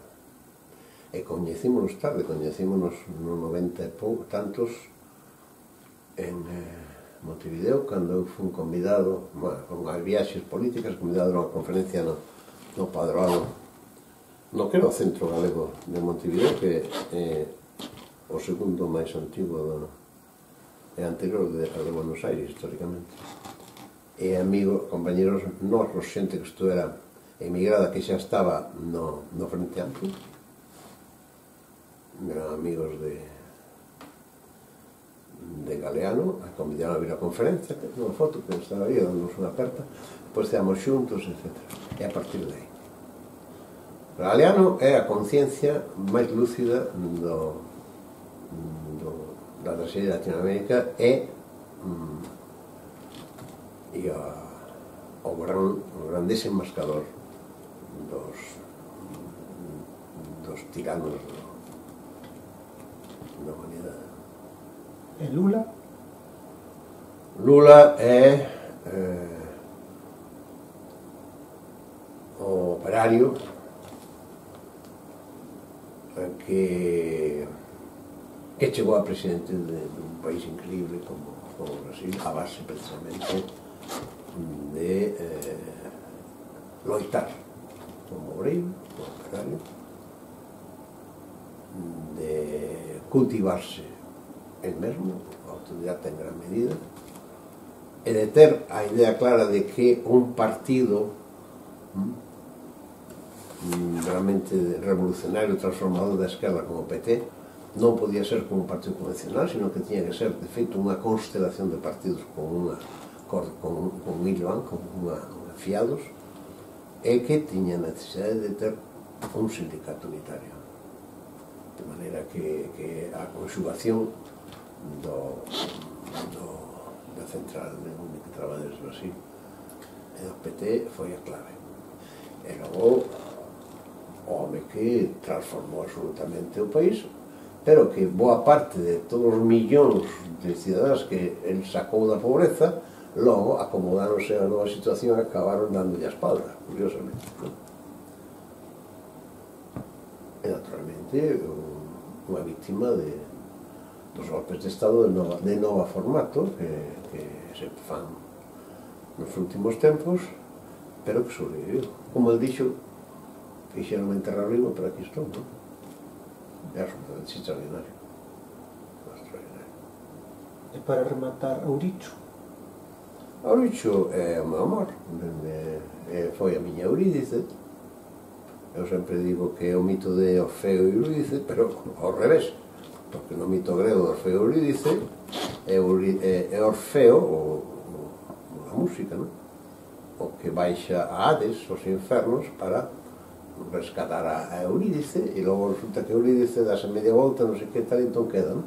E coñecímonos tarde, coñecímonos no 90 e tantos en Montevideo, cando eu fui convidado, con as viaxes políticas, convidado a unha conferencia no Padroado, no que era o Centro Galego de Montevideo, que é o segundo máis antigo e anterior ao de Buenos Aires, históricamente. E amigos, compañeros nosos, xente que estuvera emigrada, que xa estaba no Frente Amplio, eran amigos de Galeano, a convidaron a vir a conferencia, que unha foto que estaba aí, dándonos unha aperta, depois estábamos xuntos, etc. E a partir de aí. Galeano é a conciencia máis lúcida da traxedia de Latinoamérica e o gran desenmascador dos tiranos da humanidade. E Lula? Lula é o operario que chegou a presidente dun país increíble como o Brasil, a base precisamente de loitar como obreiro, como operario, de cultivarse el mesmo, autodidacta en gran medida, e de ter a idea clara de que un partido realmente revolucionario, transformador da esquerda como o PT non podía ser como un partido convencional, sino que tiña que ser, de feito, unha constelación de partidos con un hilo, con unha fiados, e que tiña necesidade de ter un sindicato unitario, de maneira que a conxugación da central onde que traballa desde Brasil e do PT foi a clave. E logo o home que transformou absolutamente o país, pero que boa parte de todos os millóns de cidadáns que el sacou da pobreza, logo acomodáronse a nova situación e acabaron dándolle a espalda, curiosamente. E naturalmente unha víctima dos golpes de Estado de nova formato que se fan nos últimos tempos, pero que sobreviviu. Como el dixo, fixeron enterrar vivo, pero aquí estou, non? É absolutamente extraordinario. E para rematar, Auricho? Auricho é o meu amor, foi a miña Eurídice. Eu sempre digo que é o mito de Orfeo e Eurídice, pero ao revés, porque no mito grego de Orfeo e Eurídice é Orfeo, a música, non? o que baixa a Hades, os infernos, para rescatar a Eurídice, e logo resulta que Eurídice dase media volta, non sei que tal, entón queda, non?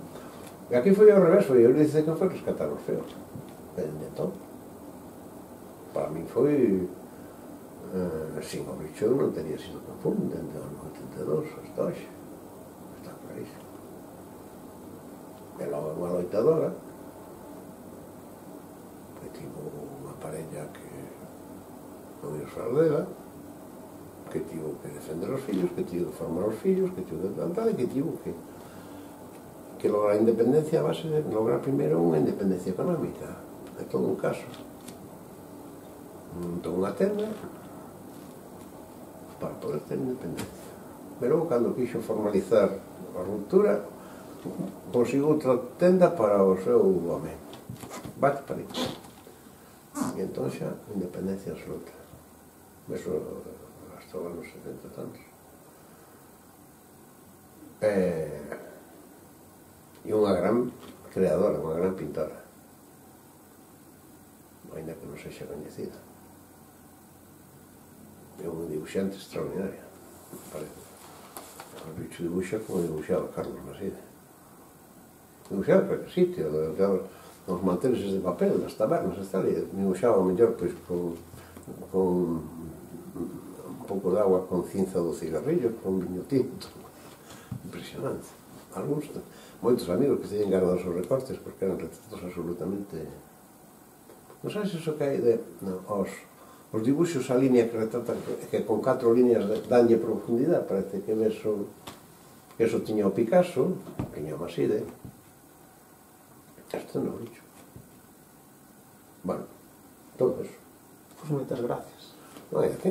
E aquí foi ao revés, foi Eurídice que foi rescatar os feos. Entón, para mí foi sin o bicho non teria sido tan fundo dentro do ano 82 hasta hoxe, está clarísimo. E logo unha loitadora que tivo unha parella que non ia usar dela, que tivo que defender os fillos, que tivo que formar os fillos, que tivo que plantar e que tivo que lograr a independencia a base de lograr primeiro unha independencia económica. É todo un caso. Montou unha tenda para poder ter independencia. Pero logo, cando quixo formalizar a ruptura, conseguiu outra tenda para o seu home. Bate para aí. E entón xa, independencia absoluta. Eso hasta os anos 70 e tantos. E unha gran creadora, unha gran pintora. Ainda que non sexa coñecida. É un dibuixante extraordinario, me parece. O bicho dibuxa como dibuxaba Carlos Maside. Dibuxaba para que sitio, nos manteles de papel, nas tabernas, e dibuxaba mellor pois con un pouco de agua con cinza do cigarrillo, con viño tinto. Impresionante. Alguns, moitos amigos que teñen guardados os recortes porque eran retratos absolutamente... Non sabes iso que hai de... Os dibuxos a línea que retratan, que con 4 líneas danlle profundidade, parece que eso tiña o Picasso, tiña o Maside. Isto non o bicho. Bueno, todo eso. Pois moitas gracias. Non hai aquí.